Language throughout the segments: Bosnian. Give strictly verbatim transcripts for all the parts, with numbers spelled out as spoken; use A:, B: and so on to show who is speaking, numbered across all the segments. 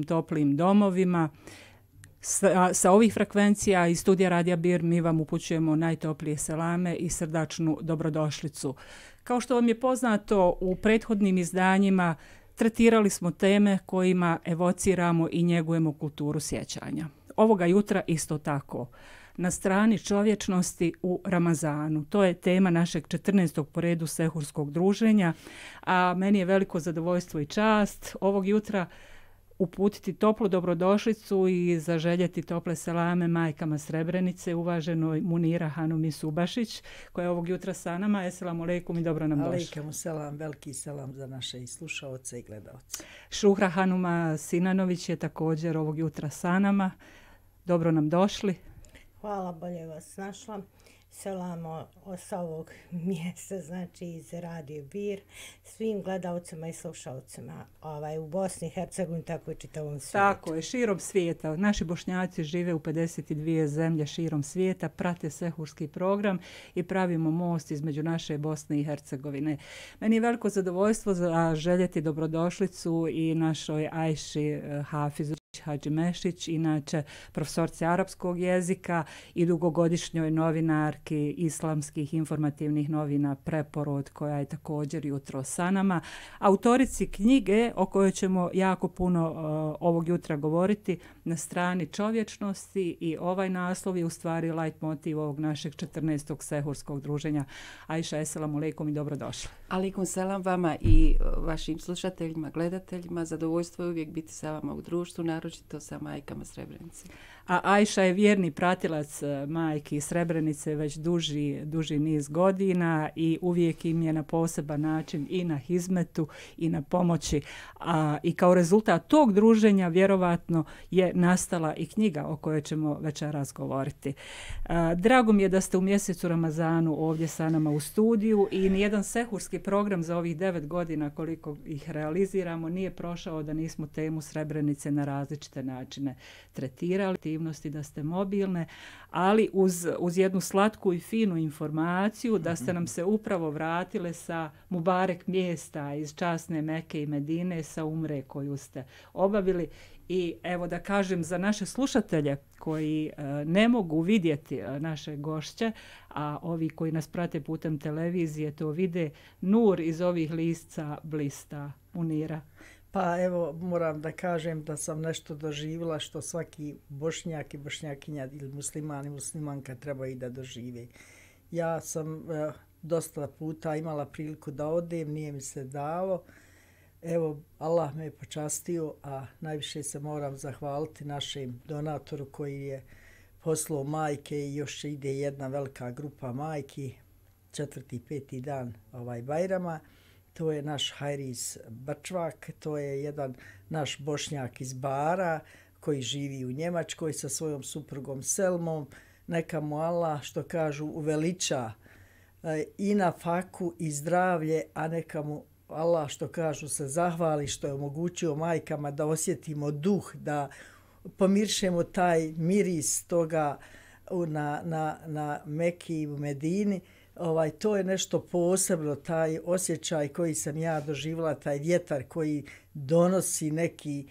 A: toplim domovima. Sa, sa ovih frekvencija i studija Radija Bir mi vam upućujemo najtoplije selame i srdačnu dobrodošlicu. Kao što vam je poznato, u prethodnim izdanjima tretirali smo teme kojima evociramo i njegujemo kulturu sjećanja. Ovoga jutra isto tako. Na strani čovječnosti u Ramazanu. To je tema našeg četrnaestog po redu sehurskog druženja, a meni je veliko zadovoljstvo i čast ovog jutra uputiti toplu dobrodošlicu i zaželjeti tople selame majkama Srebrenice, uvaženoj Munira Hanumi Subašić, koja je ovog jutra sa nama. Esselamu alejkum i dobro nam došli.
B: Alejkum selam, veliki selam za naše i slušaoce i gledaoce.
A: Šuhra Hanuma Sinanović je također ovog jutra sa nama. Dobro nam došli.
C: Hvala, bolje vas našla. Selamo sa ovog mjesta, znači iz Radio Bir, svim gledalcima i slušalcima ovaj, u Bosni i Hercegovini, tako i čitavom svijetu.
A: Tako je, širom svijeta. Naši Bošnjaci žive u pedeset dvije zemlje širom svijeta, prate sehurski program i pravimo most između naše Bosne i Hercegovine. Meni je veliko zadovoljstvo za željeti dobrodošlicu i našoj Ajši Hafizu Hadži Mešić, inače profesorce arapskog jezika i dugogodišnjoj novinarki islamskih informativnih novina Preporod, koja je također jutro sa nama. Autorici knjige o kojoj ćemo jako puno uh, ovog jutra govoriti, Na strani čovječnosti, i ovaj naslov je u stvari leitmotiv ovog našeg četrnaestog sehurskog druženja. Ajša, esselamu alejkum i dobrodošli.
D: Alejkum selam vama i vašim slušateljima, gledateljima. Zadovoljstvo je uvijek biti sa vama u društvu, naročito sa majkama Srebrenice.
A: A Ajša je vjerni pratilac majki Srebrenice već duži, duži niz godina i uvijek im je na poseban način i na hizmetu i na pomoći. A, I kao rezultat tog druženja vjerovatno je nastala i knjiga o kojoj ćemo večeras govoriti. A, drago mi je da ste u mjesecu Ramazanu ovdje sa nama u studiju i nijedan sehurski program za ovih devet godina koliko ih realiziramo nije prošao da nismo temu Srebrenice na različite načine tretirali, aktivnosti, da ste mobilne, ali uz, uz jednu slatku i finu informaciju da ste nam se upravo vratile sa Mubarek mjesta iz časne Mekke i Medine, sa umre koju ste obavili. I evo da kažem za naše slušatelje koji e, ne mogu vidjeti e, naše gošće, a ovi koji nas prate putem televizije to vide, nur iz ovih lisca blista. Munira.
B: Pa evo, moram da kažem da sam nešto doživjela što svaki bošnjak i bošnjakinja ili musliman i muslimanka treba i da dožive. Ja sam eh, dosta puta imala priliku da odem, nije mi se dalo. Evo, Allah me je počastio, a najviše se moram zahvaliti našem donatoru koji je poslao majke i još ide jedna velika grupa majki, četvrti, peti dan ovaj Bajrama. To je naš Hajris Brčvak, to je jedan naš Bošnjak iz Bara koji živi u Njemačkoj sa svojom suprugom Selmom. Neka mu Allah, što kažu, uveliča i na faku i zdravlje, a neka mu Allah, što kažu, se zahvali što je omogućio majkama da osjetimo duh, da pomiršemo taj miris toga na, na, na Meki i u Medini. Ovaj, to je nešto posebno, taj osjećaj koji sam ja doživjela, taj vjetar koji donosi neki,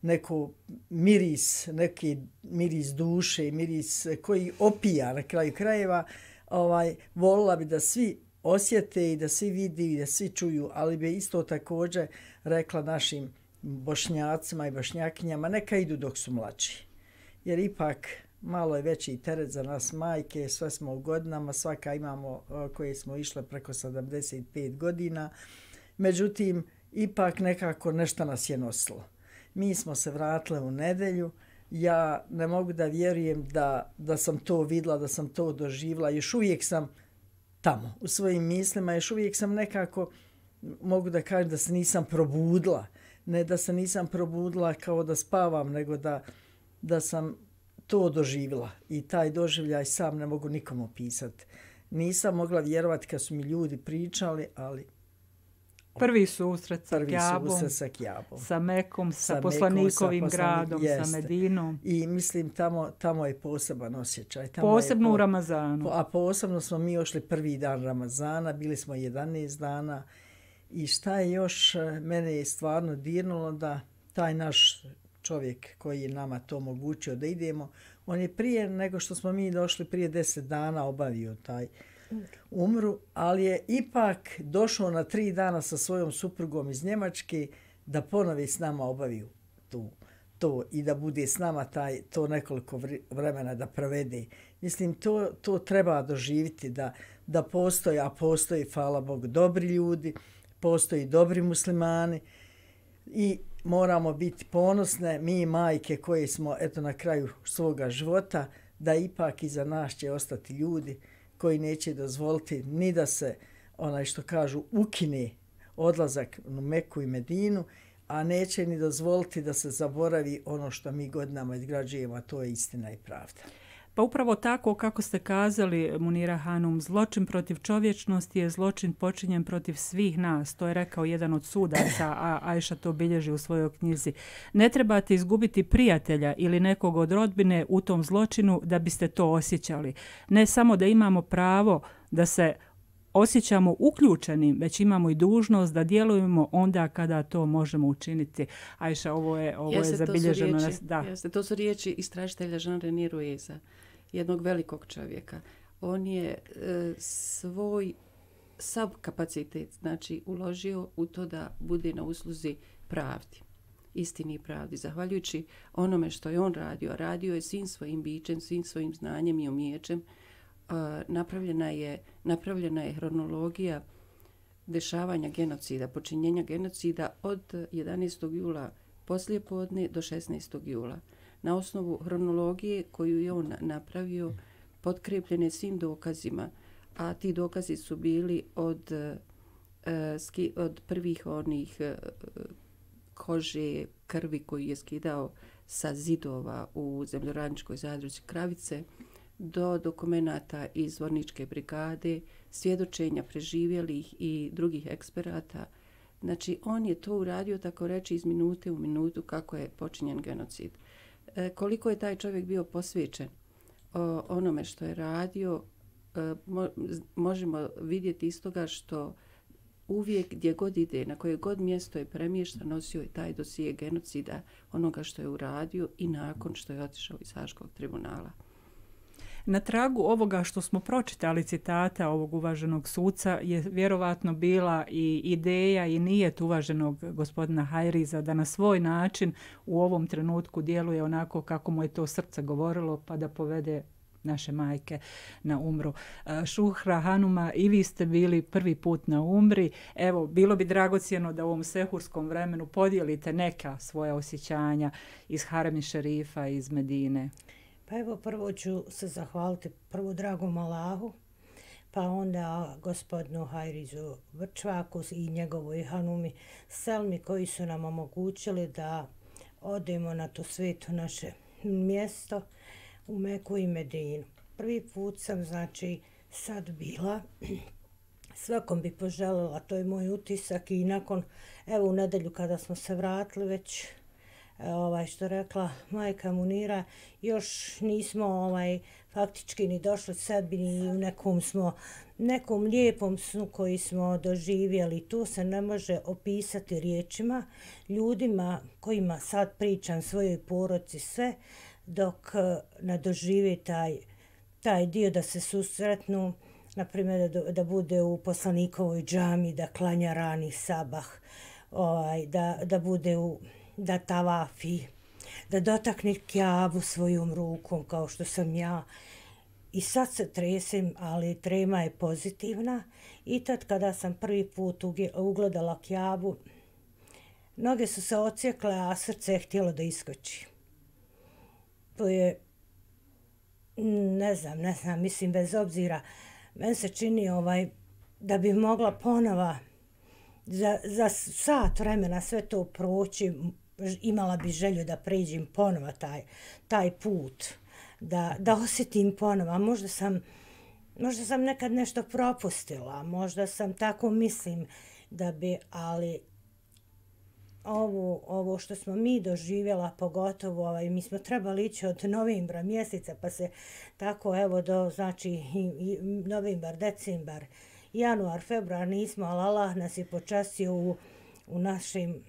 B: neko miris, neki miris duše, miris koji opija na kraju krajeva. Ovaj, volila bi da svi osjete i da svi vidi i da svi čuju, ali bi isto također rekla našim Bošnjacima i Bošnjakinjama, neka idu dok su mlađi. Jer ipak malo je veći teret za nas majke, sve smo u godinama, svaka imamo koje smo išle preko sedamdeset pet godina. Međutim, ipak nekako nešto nas je nosilo. Mi smo se vratile u nedelju, ja ne mogu da vjerujem da, da sam to vidjela, da sam to doživjela, još uvijek sam tamo u svojim mislima, još uvijek sam nekako, mogu da kažem da se nisam probudila, ne da se nisam probudila kao da spavam, nego da, da sam to doživjela i taj doživljaj sam ne mogu nikom opisati. Nisam mogla vjerovati kad su mi ljudi pričali, ali
A: prvi susret sa
B: prvi
A: Kjabom,
B: susret sa Kjabom,
A: sa Mekom, sa,
B: sa
A: poslanikovim
B: Mekom, sa
A: gradom,
B: poslanik,
A: sa Medinom.
B: I mislim tamo, tamo je poseban osjećaj. Tamo
A: Posebno
B: je,
A: u Ramazanu.
B: A posebno smo mi ošli prvi dan Ramazana, bili smo jedanaest dana i šta je još mene je stvarno dirnulo da taj naš čovjek koji je nama to omogućio da idemo. On je prije nego što smo mi došli, prije deset dana obavio taj umru, ali je ipak došao na tri dana sa svojom suprugom iz Njemačke da ponovi s nama obaviju tu, to i da bude s nama taj, to nekoliko vremena da provede. Mislim, to, to treba doživjeti da, da postoji, a postoji, hvala Bogu, dobri ljudi, postoji dobri muslimani i moramo biti ponosne, mi majke koje smo eto na kraju svoga života, da ipak iza nas će ostati ljudi koji neće dozvoliti ni da se, onaj što kažu, ukine odlazak u Meku i Medinu, a neće ni dozvoliti da se zaboravi ono što mi godinama izgrađujemo, a to je istina i pravda.
A: Pa upravo tako kako ste kazali, Munira Hanum, zločin protiv čovječnosti je zločin počinjen protiv svih nas. To je rekao jedan od sudaca, a Ajša to bilježi u svojoj knjizi. Ne trebate izgubiti prijatelja ili nekog od rodbine u tom zločinu da biste to osjećali. Ne samo da imamo pravo da se osjećamo uključenim, već imamo i dužnost da djelujemo onda kada to možemo učiniti. Ajša, ovo je, ovo
D: jeste,
A: je zabilježeno.
D: To su riječi,
A: da.
D: jeste, to su riječi istražitelja Jean-René Rueza, jednog velikog čovjeka. On je e, svoj sav kapacitet znači, uložio u to da bude na usluzi pravdi, istini i pravdi. Zahvaljujući onome što je on radio, radio je svim svojim bićem, svim svojim znanjem i umijećem, Uh, napravljena je, napravljena je hronologija dešavanja genocida, počinjenja genocida od jedanaestog jula poslijepodne do šesnaestog jula. Na osnovu hronologije koju je on napravio, potkrepljene svim dokazima, a ti dokazi su bili od, uh, ski, od prvih onih uh, kože, krvi koju je skidao sa zidova u zemljoradničkoj zadruzi Kravice, do dokumenata iz Vorničke brigade, svjedočenja preživjelih i drugih eksperata. Znači, on je to uradio, tako reći, iz minute u minutu kako je počinjen genocid. E, koliko je taj čovjek bio posvećen o onome što je radio, e, mo, možemo vidjeti iz toga što uvijek gdje god ide, na koje god mjesto je premješta, nosio je taj dosije genocida onoga što je uradio i nakon što je otišao iz Haškog tribunala.
A: Na tragu ovoga što smo pročitali citata ovog uvaženog suca je vjerovatno bila i ideja i nijet uvaženog gospodina Hajriza da na svoj način u ovom trenutku djeluje onako kako mu je to srce govorilo pa da povede naše majke na umru. Šuhra Hanuma, i vi ste bili prvi put na umri. Evo, bilo bi dragocjeno da u ovom sehurskom vremenu podijelite neka svoja osjećanja iz Harem šerifa, iz Medine.
C: Pa evo, prvo ću se zahvaliti prvo dragom Allahu, pa onda gospodinu Hajrizu Vrčvaku i njegovoj Hanumi Selmi koji su nam omogućili da odemo na to sveto naše mjesto u Meku i Medinu. Prvi put sam, znači, sad bila, svakom bi poželjela, to je moj utisak i nakon, evo u nedelju kada smo se vratili već, ovaj što rekla majka Munira, još nismo ovaj faktički ni došli sebi, ni u nekom smo nekom lijepom snu koji smo doživjeli. Tu se ne može opisati riječima ljudima kojima sad pričam svojoj porodici sve, dok ne dožive taj, taj dio da se susretnu, na primjer da, da bude u poslanikovoj džami, da klanja rani sabah, ovaj, da, da bude u da tavafi, da dotakne Kjabu svojom rukom kao što sam ja. I sad se tresem, ali trema je pozitivna. I tad kada sam prvi put ugledala Kjabu, noge su se ocijekle, a srce je htjelo da iskoči. To je, ne znam, ne znam, mislim bez obzira, meni se čini ovaj, da bi mogla ponova za, za sat vremena sve to proći, imala bi želju da pređem ponova taj, taj put, da, da osjetim ponova. Možda sam, možda sam nekad nešto propustila, možda sam tako mislim da bi, ali ovo, ovo što smo mi doživjela, pogotovo ovaj, mi smo trebali ići od novembra mjeseca, pa se tako evo do, znači, i, i, novembar, decembar, januar, februar nismo, ali Allah nas je počastio u, u našim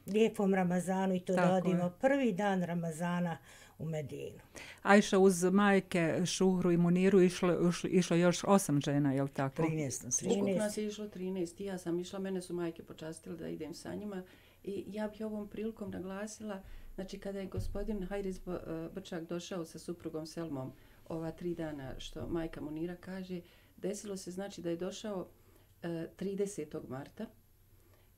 C: lijepom Ramazanu i to
A: Tako
C: da odimo
A: je.
C: prvi dan Ramazana u Medinu.
A: Ajša, uz majke Šuhru i Muniru išlo, išlo još osam žena, je li tako?
B: trinaest nas je.
D: Ukupno nas je išlo trinaest. Ja sam išla, mene su majke počastile da idem sa njima. I ja bih ovom prilikom naglasila, znači kada je gospodin Hajriz Brčak došao sa suprugom Selmom ova tri dana što majka Munira kaže, desilo se znači da je došao tridesetog marta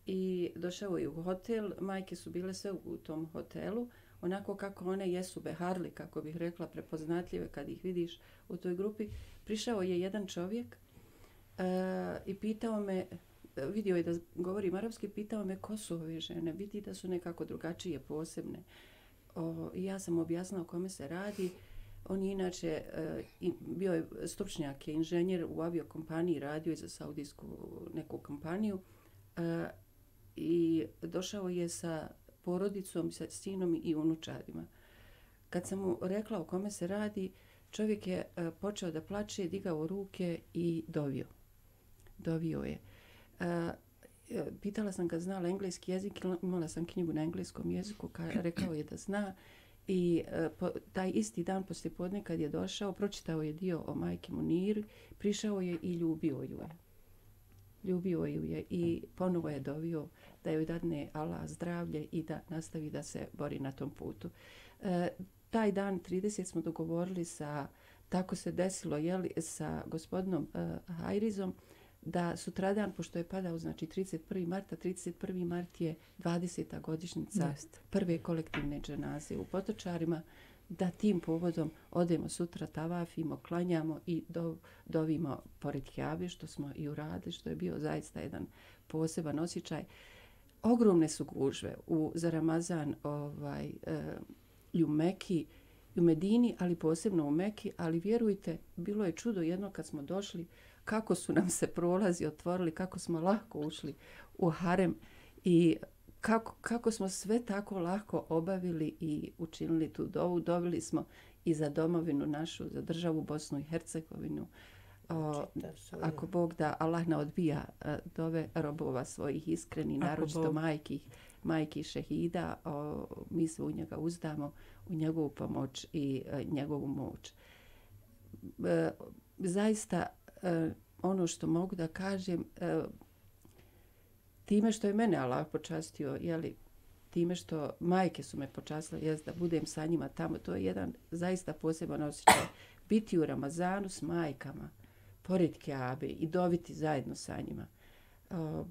D: i došao je u hotel, majke su bile sve u tom hotelu, onako kako one jesu beharli, kako bih rekla, prepoznatljive kad ih vidiš u toj grupi. Prišao je jedan čovjek uh, i pitao me, vidio je da govorim arapski, pitao me ko su ove žene, vidi da su nekako drugačije, posebne. O, i ja sam objasnila o kome se radi. On je inače uh, bio je stručnjak, je inženjer u aviokompaniji, radio je za saudijsku neku kompaniju uh, i došao je sa porodicom, sa sinom i unučadima. Kad sam mu rekla o kome se radi, čovjek je uh, počeo da plače, digao ruke i dovio. Dovio je. Uh, pitala sam ga znala engleski jezik, imala sam knjigu na engleskom jeziku, ka, rekao je da zna. I uh, po, taj isti dan poslije podne kad je došao, pročitao je dio o majki Muniri, prišao je i ljubio ju je. Ljubio ju je i ponovo je dovio da joj dadne Allah zdravlje i da nastavi da se bori na tom putu. E, taj dan trideset smo dogovorili sa, tako se desilo, jeli, sa gospodinom e, Hajrizom, da sutradan, pošto je padao, znači trideset prvog marta, trideset prvi mart je dvadeseta godišnjica
A: Just.
D: prve kolektivne dženaze u Potočarima, da tim povodom odemo sutra, tavafimo, klanjamo i do, dovimo pored Kjabe, što smo i uradili, što je bio zaista jedan poseban osjećaj. Ogromne su gužve u, za Ramazan ovaj, e, i u Meki, i u Medini, ali posebno u Meki, ali vjerujte, bilo je čudo jedno kad smo došli, kako su nam se prolazi otvorili, kako smo lahko ušli u harem i kako, kako smo sve tako lahko obavili i učinili tu dovu. Dovili smo i za domovinu našu, za državu Bosnu i Hercegovinu. O, ako Bog da, Allah ne odbija dove robova svojih iskreni, naročito majki, majki šehida. O, mi se u njega uzdamo, u njegovu pomoć i e, njegovu moć. E, zaista, e, ono što mogu da kažem, e, time što je mene Allah počastio, jeli, time što majke su me počastile, jest da budem sa njima tamo, to je jedan zaista poseban osjećaj. Biti u Ramazanu s majkama, pored Kjabe i doviti zajedno sa njima. O,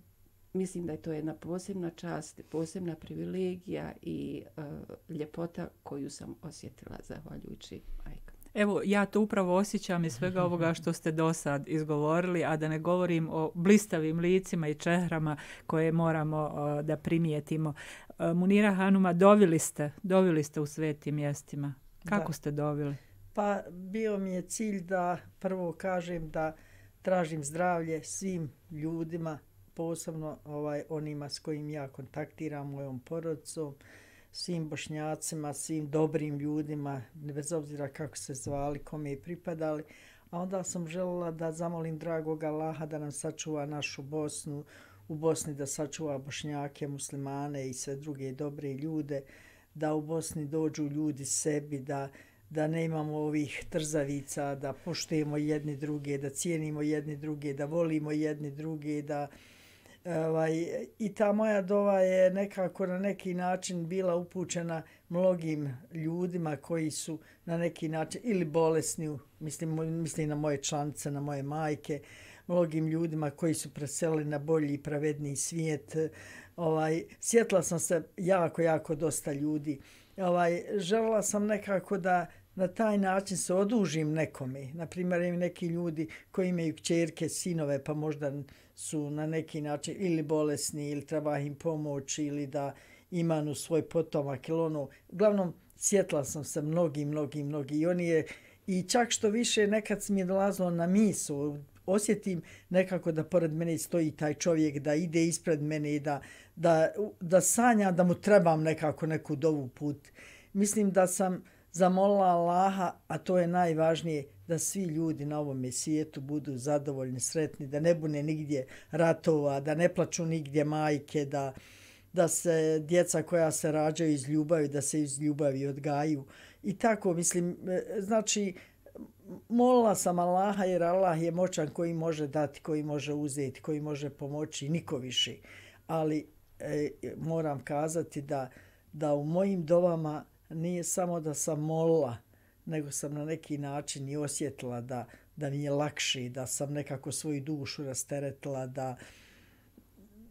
D: mislim da je to jedna posebna čast, posebna privilegija i o, ljepota koju sam osjetila zahvaljujući majkama.
A: Evo, ja to upravo osjećam iz svega ovoga što ste do sad izgovorili, a da ne govorim o blistavim licima i čehrama koje moramo uh, da primijetimo. Uh, Munira Hanuma, dovili ste, dovili ste u svetim mjestima. Kako da. ste dovili?
B: Pa bio mi je cilj da prvo kažem da tražim zdravlje svim ljudima, posebno ovaj, onima s kojim ja kontaktiram, mojom porodicom, svim Bošnjacima, svim dobrim ljudima, bez obzira kako se zvali, kome je pripadali. A onda sam željela da zamolim dragog Allaha da nam sačuva našu Bosnu, u Bosni da sačuva Bošnjake, muslimane i sve druge dobre ljude, da u Bosni dođu ljudi sebi, da, da ne imamo ovih trzavica, da poštujemo jedni druge, da cijenimo jedni druge, da volimo jedni druge, da Ovaj, i ta moja dova je nekako na neki način bila upućena mnogim ljudima koji su na neki način ili bolesni, mislim, mislim na moje članice, na moje majke, mnogim ljudima koji su preselili na bolji i pravedniji svijet. Ovaj, sjetila sam se jako, jako dosta ljudi. Ovaj, željela sam nekako da na taj način se odužim nekome. Naprimjer, imaju neki ljudi koji imaju kćerke, sinove, pa možda su na neki način ili bolesni ili treba im pomoći ili da imanu svoj potomak ili ono. Uglavnom, sjetila sam se mnogi, mnogi, mnogi. I oni je, i čak što više nekad mi je dolazilo na misao, osjetim nekako da pored mene stoji taj čovjek, da ide ispred mene i da, da, da sanja da mu trebam nekako neku dovu put. Mislim da sam zamolila Allaha, a to je najvažnije, da svi ljudi na ovom svijetu budu zadovoljni, sretni, da ne bude nigdje ratova, da ne plaču nigdje majke, da, da se djeca koja se rađaju iz ljubavi, da se iz ljubavi odgaju. I tako, mislim, znači, molila sam Allaha jer Allah je moćan koji može dati, koji može uzeti, koji može pomoći, niko više. Ali e, moram kazati da, da u mojim dovama nije samo da sam molila, nego sam na neki način i osjetila da, da mi je lakše, da sam nekako svoju dušu rasteretila, da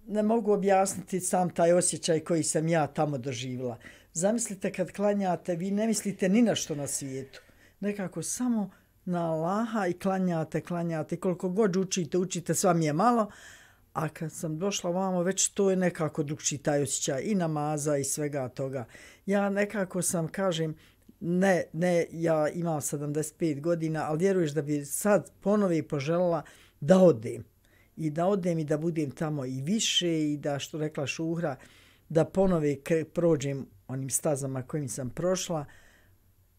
B: ne mogu objasniti sam taj osjećaj koji sam ja tamo doživjela. Zamislite kad klanjate, vi ne mislite ni na što na svijetu. Nekako samo na Allaha i klanjate, klanjate. Koliko god učite, učite, sva mi je malo. A kad sam došla vamo, već to je nekako drugčiji taj osjećaj i namaza i svega toga. Ja nekako sam, kažem, ne, ne, ja imam sedamdeset pet godina, ali vjeruješ da bi sad ponovi poželjela da odem. I da odem i da budem tamo i više i da, što rekla Šuhra, da ponovi prođem onim stazama kojim sam prošla,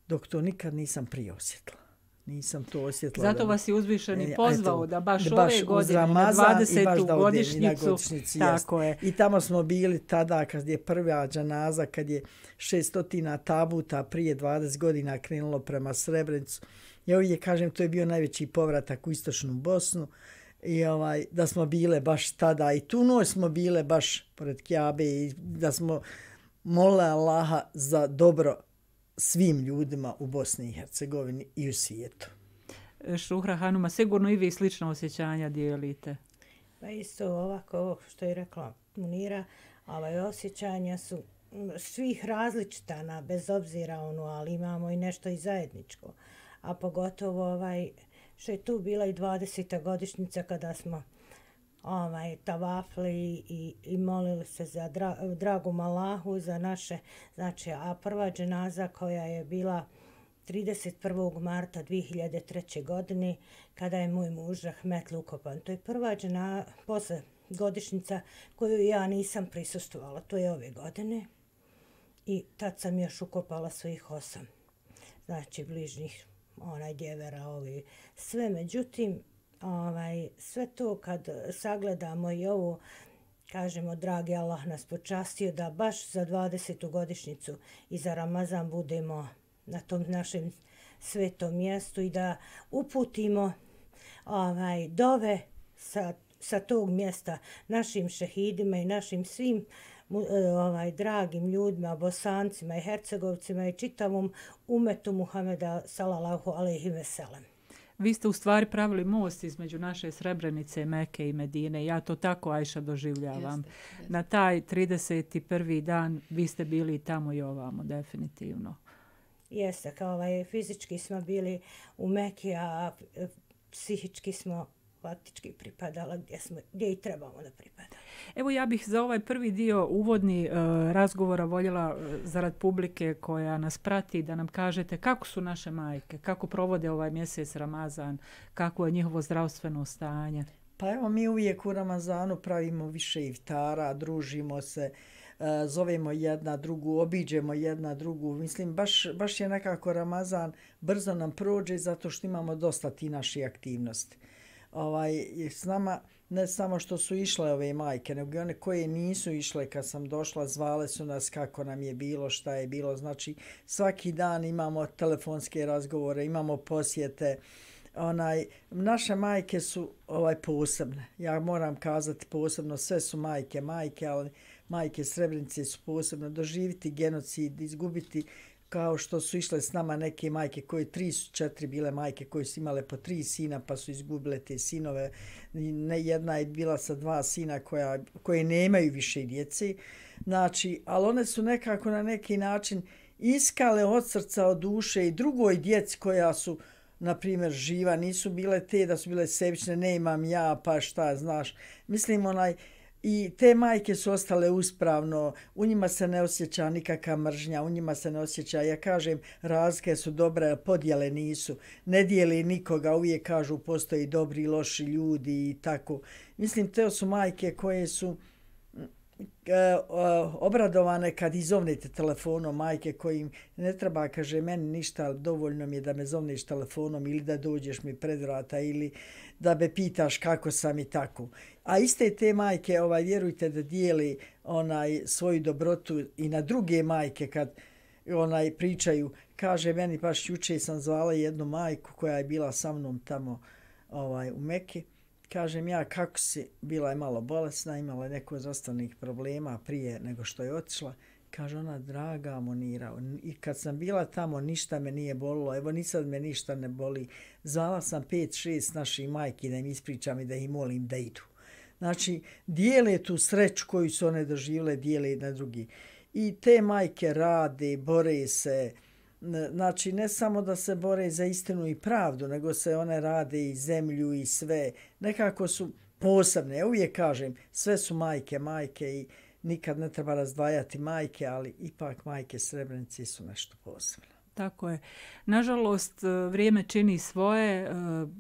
B: dok to nikad nisam prije osjetila. Nisam to osjetila.
A: Zato
B: da,
A: vas je uzvišeni pozvao
B: eto,
A: da baš
B: da
A: ove
B: baš
A: godine, na dvadesetu godišnjicu,
B: godišnjici,
A: tako je.
B: I tamo smo bili tada kad je prva džanaza, kad je šestotina tabuta prije dvadeset godina krenulo prema Srebrenicu. Ja uvijek kažem, to je bio najveći povratak u istočnu Bosnu. I ovaj, da smo bile baš tada i tu noć smo bile baš pored Kjabe i da smo molile Allaha za dobro svim ljudima u Bosni i Hercegovini i u svijetu.
A: Šuhra Hanuma, sigurno i vi slična osjećanja dijelite.
C: Pa isto ovako što je rekla Munira, ovaj osjećanja su svih različita, na, bez obzira ono, ali imamo i nešto i zajedničko. A pogotovo ovaj, što je tu bila i dvadeseta godišnjica kada smo ovaj, tavafli i, i molili se za dra, dragom Allahu, za naše, znači, a prva dženaza koja je bila trideset prvog marta dvije hiljade treće. godine, kada je moj muž Rahmetli ukopan. To je prva džena, posle godišnjica koju ja nisam prisustvovala, to je ove godine. I tad sam još ukopala svojih osam, znači bližnjih, onaj djevera, ovi, sve. Međutim, ovaj, sve to kad sagledamo i ovo, kažemo, dragi Allah nas počastio da baš za dvadesetu godišnjicu i za Ramazan budemo na tom našem svetom mjestu i da uputimo ovaj, dove sa, sa tog mjesta našim šehidima i našim svim ovaj, dragim ljudima, Bosancima i Hercegovcima i čitavom umetu Muhameda sallallahu alejhi ve sellem.
A: Vi ste u stvari pravili most između naše Srebrenice, Mekke i Medine. Ja to tako, Ajša, doživljavam. Jeste, jeste. Na taj trideset prvi dan vi ste bili tamo i ovamo, definitivno.
C: Jeste, kao ovaj, fizički smo bili u Meki, a psihički smo faktički pripadala gdje, smo, gdje i trebamo da pripada.
A: Evo, ja bih za ovaj prvi dio uvodni uh, razgovora voljela uh, zarad publike koja nas prati da nam kažete kako su naše majke, kako provode ovaj mjesec Ramazan, kako je njihovo zdravstveno stanje.
B: Pa evo, mi uvijek u Ramazanu pravimo više iftara, družimo se, uh, zovemo jedna drugu, obiđemo jedna drugu. Mislim, baš, baš je nekako Ramazan brzo nam prođe zato što imamo dosta ti naši aktivnosti. Ovaj, s nama ne samo što su išle ove majke, nego one koje nisu išle kad sam došla, zvale su nas kako nam je bilo, šta je bilo. Znači, svaki dan imamo telefonske razgovore, imamo posjete. Onaj, naše majke su ovaj posebne. Ja moram kazati posebno, sve su majke, majke, ali majke Srebrenice su posebne. Doživiti genocid, izgubiti kao što su išle s nama neke majke koje tri su četiri bile majke koje su imale po tri sina pa su izgubile te sinove. Ne, jedna je bila sa dva sina koja, koje nemaju više djece. Znači, ali one su nekako na neki način iskale od srca, od duše i drugoj djeci koja su, na primjer, živa. Nisu bile te da su bile sebične, ne imam ja, pa šta, znaš. Mislim, onaj, i te majke su ostale uspravno, u njima se ne osjeća nikakva mržnja, u njima se ne osjeća, ja kažem, razlike su dobre, podjele nisu, ne dijeli nikoga, uvijek kažu postoji dobri i loši ljudi i tako. Mislim, te su majke koje su obradovane kad izovnete telefonom majke kojim ne treba, kaže, meni ništa, dovoljno mi je da me zovneš telefonom ili da dođeš mi pred vrata ili da me pitaš kako sam i tako. A iste te majke, ovaj, vjerujte da dijeli onaj svoju dobrotu i na druge majke kad onaj pričaju. Kaže, meni baš juče sam zvala jednu majku koja je bila sa mnom tamo ovaj, u Meki. Kažem ja, kako si, bila je malo bolesna, imala je neko zdravstvenih problema prije nego što je otišla. Kaže ona, draga Monira, i kad sam bila tamo ništa me nije bolilo, evo ni sad me ništa ne boli. Zvala sam pet, šest naših majki da im ispričam i da ih molim da idu. Znači, dijele tu sreću koju su one doživjele, dijele na drugi. I te majke rade, bore se, znači ne samo da se bore za istinu i pravdu, nego se one rade i zemlju i sve. Nekako su posebne. Ja uvijek kažem, sve su majke, majke i nikad ne treba razdvajati majke, ali ipak majke Srebrenice su nešto posebno.
A: Tako je. Nažalost, vrijeme čini svoje.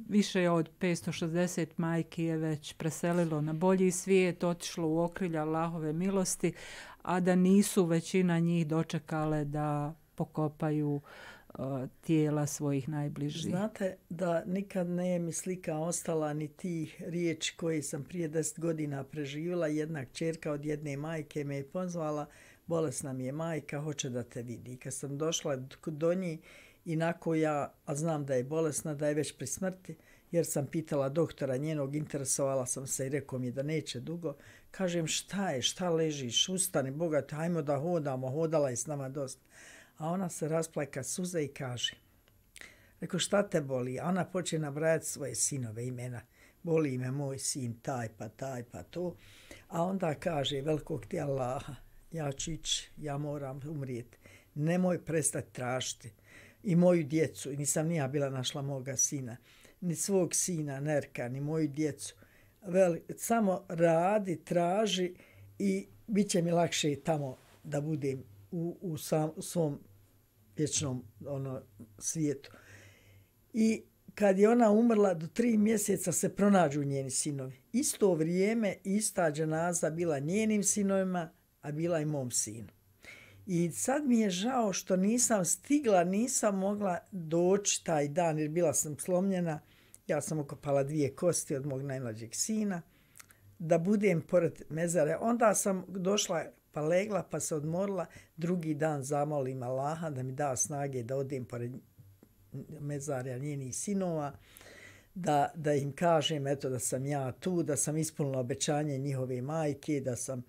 A: Više od petsto šezdeset majki je već preselilo na bolji svijet, otišlo u okrilja Allahove milosti, a da nisu većina njih dočekale da pokopaju uh, tijela svojih najbližih.
B: Znate da nikad nije mi slika ostala ni tih riječi koje sam prije deset godina preživjela. Jedna kćerka od jedne majke me je pozvala, bolesna mi je majka, hoće da te vidi. I kad sam došla do nje, inako ja, a znam da je bolesna, da je već pri smrti, jer sam pitala doktora njenog, interesovala sam se i rekao mi da neće dugo. Kažem, šta je, šta ležiš, ustani, bogate, hajmo da hodamo, hodala je s nama dosta. A ona se rasplaka suze i kaže, rekao, šta te boli? A ona počne nabrajati svoje sinove imena. Boli me moj sin, taj pa taj pa to. A onda kaže, velikog ti Allaha, ja ću ići, ja moram umrijeti. Nemoj prestati tražiti. I moju djecu, nisam nija bila našla moga sina, ni svog sina, Nerka, ni moju djecu. Vel, samo radi, traži i bit će mi lakše tamo da budem u, u, sam, u svom vječnom ono, svijetu. I kad je ona umrla, do tri mjeseca se pronađu njeni sinovi. Isto vrijeme, ista dženaza bila njenim sinovima, a bila i mom sinu. I sad mi je žao što nisam stigla, nisam mogla doći taj dan, jer bila sam slomljena. Ja sam okopala dvije kosti od mog najmlađeg sina, da budem pored mezare. Onda sam došla, pa legla, pa se odmorila. Drugi dan zamolim Allaha da mi da snage da odem pored mezarja njenih sinova, da, da im kažem eto, da sam ja tu, da sam ispunila obećanje njihove majke, da sam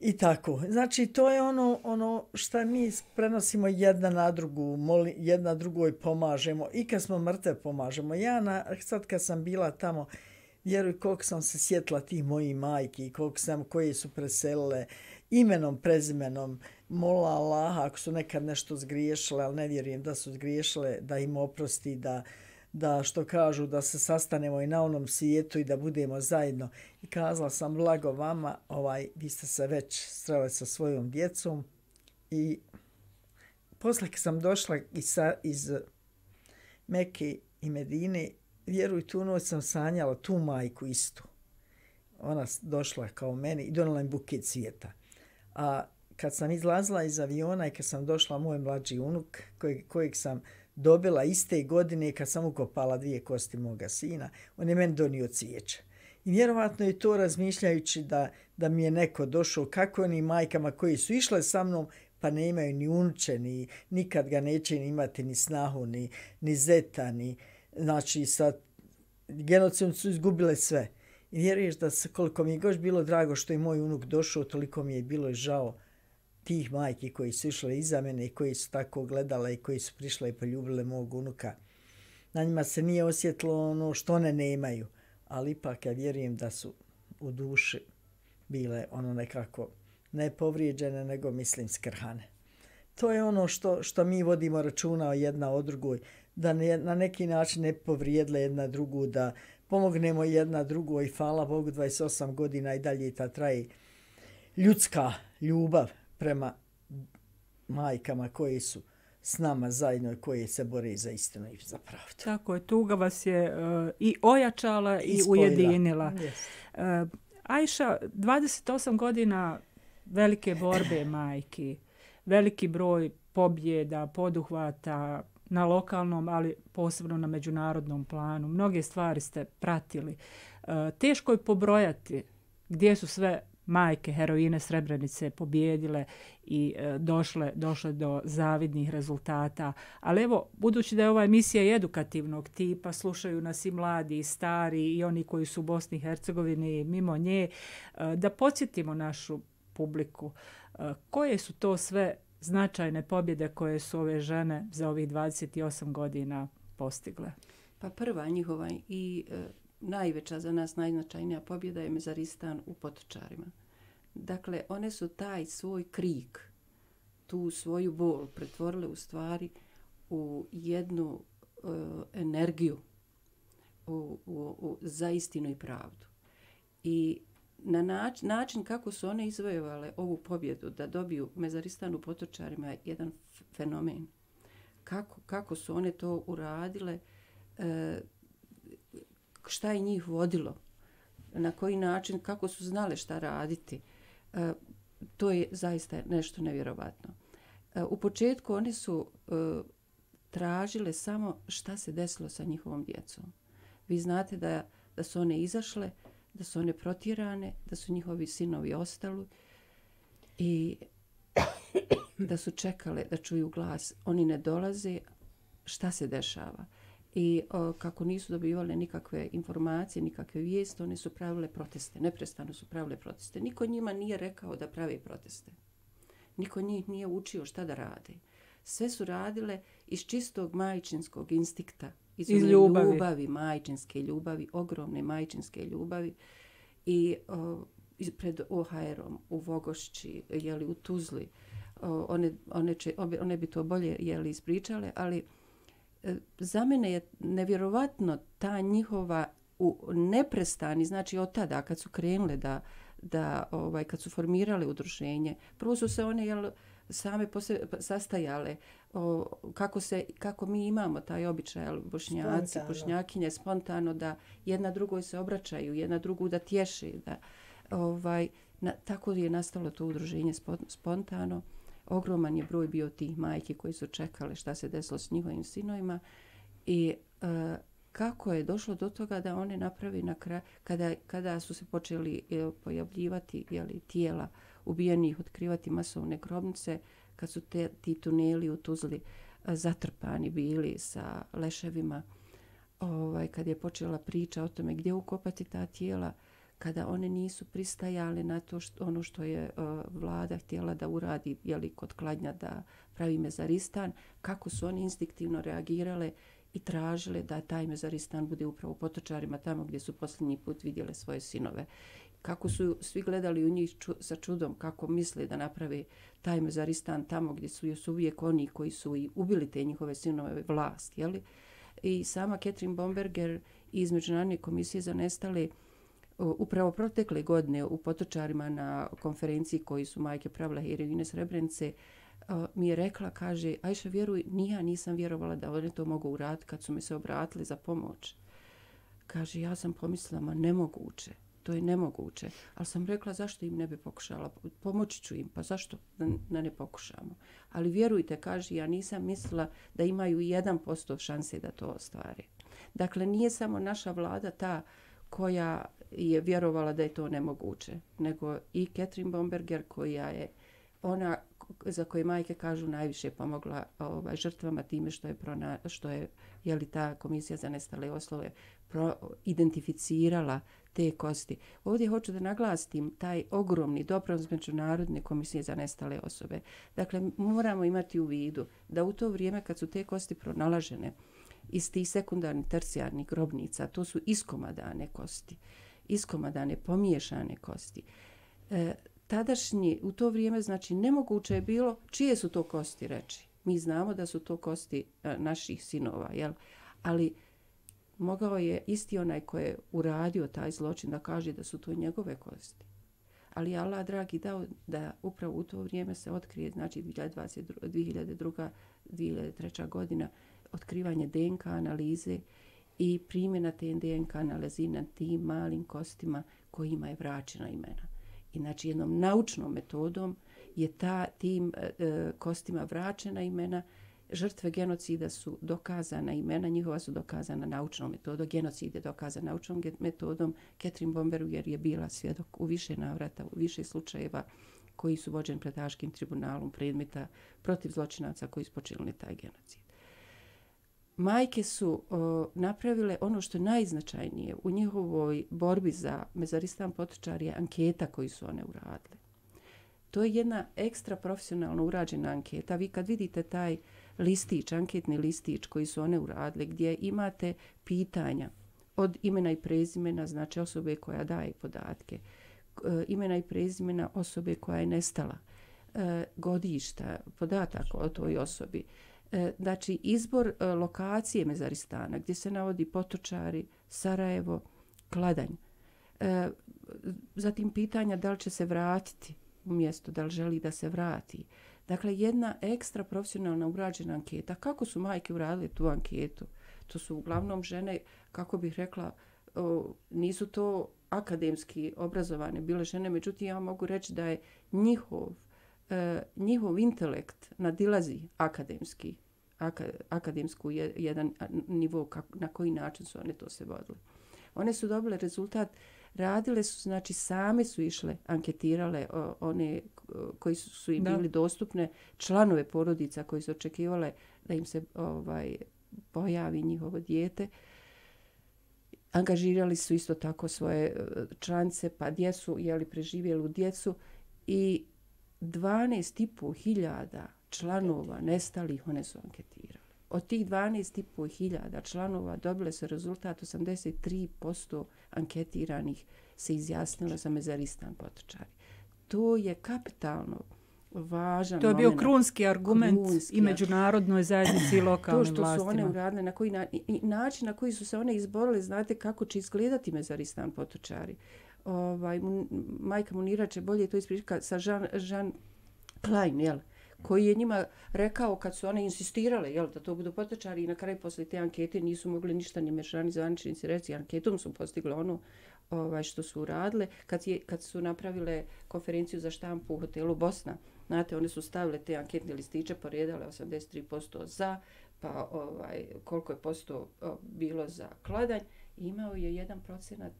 B: i tako. Znači, to je ono, ono što mi prenosimo jedna na drugu, moli, jedna drugoj pomažemo i kad smo mrtve pomažemo. Ja na, sad kad sam bila tamo, vjeruj koliko sam se sjetila tih mojih majki, koliko sam, koje su preselile imenom, prezimenom, molila Allaha ako su nekad nešto zgriješile, ali ne vjerujem da su zgriješile, da im oprosti, da da što kažu da se sastanemo i na onom svijetu i da budemo zajedno. I kazala sam blago vama, ovaj, vi ste se već sreli sa svojom djecom. I posle kad sam došla iz, iz Mekke i Medine, vjeruj, tu noć sam sanjala tu majku istu. Ona došla kao meni i donala im buket cvijeta. A kad sam izlazila iz aviona i kad sam došla, moj mlađi unuk, kojeg, kojeg sam dobila iste godine kad sam ukopala dvije kosti moga sina, on je meni donio cvijeće. I vjerovatno je to razmišljajući da, da mi je neko došao, kako onim majkama koji su išle sa mnom, pa ne imaju ni unuče, ni, nikad ga neće ni imati ni snahu, ni, ni zeta, ni, znači sa genocidom su izgubile sve. I vjeruješ da se, koliko mi je goš bilo drago što je moj unuk došao, toliko mi je bilo žao tih majki koji su išle iza mene i koji su tako gledale i koji su prišle i poljubile mog unuka. Na njima se nije osjetilo ono što one nemaju, ali ipak ja vjerujem da su u duši bile ono nekako ne povrijeđene, nego mislim skrhane. To je ono što, što mi vodimo računa o jedna o drugoj, da ne, na neki način ne povrijedle jedna drugu, da pomognemo jedna drugu i hvala Bogu dvadeset osam godina i dalje ta traje ljudska ljubav prema majkama koji su s nama zajedno i koji se bore za istinu i za pravdu.
A: Tako je, tuga vas je uh, i ojačala i, I ujedinila.
B: Yes.
A: Uh, Ajša, dvadeset osam godina velike borbe majki, veliki broj pobjeda, poduhvata na lokalnom, ali posebno na međunarodnom planu. Mnoge stvari ste pratili. E, teško je pobrojati gdje su sve majke heroine Srebrenice pobjedile i e, došle, došle do zavidnih rezultata. Ali evo, budući da je ova emisija edukativnog tipa, slušaju nas i mladi i stari i oni koji su u Bosni i Hercegovini mimo nje, e, da podsjetimo našu publiku e, koje su to sve značajne pobjede koje su ove žene za ovih dvadeset osam godina postigle.
D: Pa prva njihova i e, najveća za nas najznačajnija pobjeda je Mezaristan u Potočarima. Dakle, one su taj svoj krik, tu svoju bol pretvorile u stvari u jednu e, energiju u, u, u, za istinu i pravdu. I na način, način kako su one izvojevale ovu pobjedu da dobiju Mezaristan u Potočarima je jedan fenomen. Kako, kako su one to uradile, e, šta je njih vodilo, na koji način, kako su znale šta raditi. E, to je zaista nešto nevjerovatno. E, u početku one su e, tražile samo šta se desilo sa njihovom djecom. Vi znate da, da su one izašle, da su one protjerane, da su njihovi sinovi ostali i da su čekale da čuju glas. Oni ne dolaze, šta se dešava. I o, kako nisu dobivale nikakve informacije, nikakve vijesti, one su pravile proteste. Neprestano su pravile proteste. Niko njima nije rekao da prave proteste. Niko njih nije učio šta da rade. Sve su radile iz čistog majčinskog instinkta. Iz,
A: iz ljubavi.
D: ljubavi, majčinske ljubavi, ogromne majčinske ljubavi. I o, pred O H R-om u Vogošći, jeli, u Tuzli, o, one, one, će, one bi to bolje jeli, ispričale, ali za mene je nevjerovatno ta njihova u neprestani, znači od tada kad su krenule da, da ovaj, kad su formirale udruženje, prvo su se one jel, same pose, sastajale o, kako, se, kako mi imamo taj običaj, jel, bošnjaci, spontano. Bošnjakinje, spontano da jedna drugoj se obraćaju, jedna drugu da tješi. Da, ovaj, na, tako je nastalo to udruženje spontano. Ogroman je broj bio tih majki koji su čekali šta se desilo s njihovim sinovima i e, kako je došlo do toga da one napravi na kraju, kada, kada su se počeli e, pojavljivati jeli, tijela ubijenih, otkrivati masovne grobnice, kad su te, ti tuneli u Tuzli e, zatrpani bili sa leševima, ovaj, kad je počela priča o tome gdje ukopati ta tijela, kada one nisu pristajale na to što, ono što je uh, vlada htjela da uradi jeli, kod kladnja da pravi Mezaristan, kako su oni instinktivno reagirale i tražile da taj Mezaristan bude upravo u Potočarima, tamo gdje su posljednji put vidjele svoje sinove. Kako su svi gledali u njih ču, sa čudom, kako misle da naprave taj Mezaristan tamo gdje su još uvijek oni koji su i ubili te njihove sinove vlast. Jeli? I sama Catherine Bomberger iz Međunarodne komisije za nestale upravo protekle godine u Potočarima na konferenciji koji su majke pravile heroine Srebrenice mi je rekla, kaže, Ajša, vjeruj, ni ja nisam vjerovala da one to mogu uraditi kad su mi se obratili za pomoć. Kaže, ja sam pomislila, ma nemoguće, to je nemoguće. Ali sam rekla, zašto im ne bi pokušala? Pomoći ću im, pa zašto da ne, ne pokušamo? Ali vjerujte, kaže, ja nisam mislila da imaju jedan posto šanse da to ostvare. Dakle, nije samo naša vlada ta koja je vjerovala da je to nemoguće, nego i Catherine Bomberger koja je ona za koje majke kažu najviše pomogla ovaj, žrtvama time što je, prona, što je jeli, ta komisija za nestale osobe pro, identificirala te kosti. Ovdje hoću da naglastim taj ogromni doprinos Međunarodne komisije za nestale osobe. Dakle, moramo imati u vidu da u to vrijeme kad su te kosti pronalažene iz tih sekundarnih tercijarnih grobnica, to su iskomadane kosti, iskomadane, pomiješane kosti. E, tadašnji, u to vrijeme, znači, nemoguće je bilo čije su to kosti reći. Mi znamo da su to kosti a, naših sinova, jel? Ali mogao je isti onaj koji je uradio taj zločin da kaže da su to njegove kosti. Ali Allah, dragi, dao da upravo u to vrijeme se otkrije, znači dvije hiljade druga. dvije hiljade treća. godina, otkrivanje D N K analize i primjena te D N K analize na tim malim kostima kojima je vraćena imena. I znači jednom naučnom metodom je ta tim e, kostima vraćena imena. Žrtve genocida su dokazana imena, njihova su dokazana naučnom metodom. Genocid je dokazan naučnom metodom. Catherine Bomberger je bila svjedok u više navrata, u više slučajeva koji su vođeni pred Haškim tribunalom predmeta protiv zločinaca koji su počinili taj genocid. Majke su o, napravile ono što je najznačajnije u njihovoj borbi za Mezaristan Potočar je anketa koju su one uradile. To je jedna ekstra profesionalno urađena anketa. Vi kad vidite taj listić, anketni listić koji su one uradile, gdje imate pitanja od imena i prezimena, znači osobe koja daje podatke, imena i prezimena osobe koja je nestala, godišta, podataka o toj osobi, znači izbor lokacije Mezaristana gdje se navodi Potočari, Sarajevo, Kladanj. Zatim pitanja da li će se vratiti u mjesto, da li želi da se vrati. Dakle, jedna ekstra profesionalna urađena anketa. Kako su majke uradile tu anketu? To su uglavnom žene, kako bih rekla, nisu to akademski obrazovane bile žene, međutim ja mogu reći da je njihov, njihov intelekt nadilazi akademski, akademsku jedan nivo na koji način su one to se vodile. One su dobile rezultat, radile su, znači same su išle, anketirale o, one koji su, su im da. bili dostupne, članove porodica koji su očekivale da im se ovaj, pojavi njihovo dijete. Angažirali su isto tako svoje članice, pa djecu, jeli preživjelu djecu i dvanaest i pol hiljada članova nestalih one su anketirali. Od tih dvanaest i pol hiljada članova dobile su rezultat osamdeset tri posto anketiranih se izjasnilo za Mezaristan Potočari. To je kapitalno važan
A: To je bio
D: moment.
A: krunski argument krunski, i međunarodnoj zajednici i lokalnim vlastima.
D: To što vlastima. Su one uradile, na koji na, i način na koji su se one izborile, znate kako će izgledati Mezaristan Potočari. Ovaj, majka Munira će bolje to ispričati sa Jean, Jean Klein, jel? Koji je njima rekao kad su one insistirale jel, da to budu Potočari i na kraju posle te ankete nisu mogli ništa ni mešani zvaničnici reći. Anketom su postigli ono ovaj, što su uradile. Kad, je, kad su napravile konferenciju za štampu u hotelu Bosna, znate, one su stavile te anketne listiće, poredale osamdeset tri posto za, pa ovaj, koliko je posto bilo za Kladanj. Imao je jedan procenat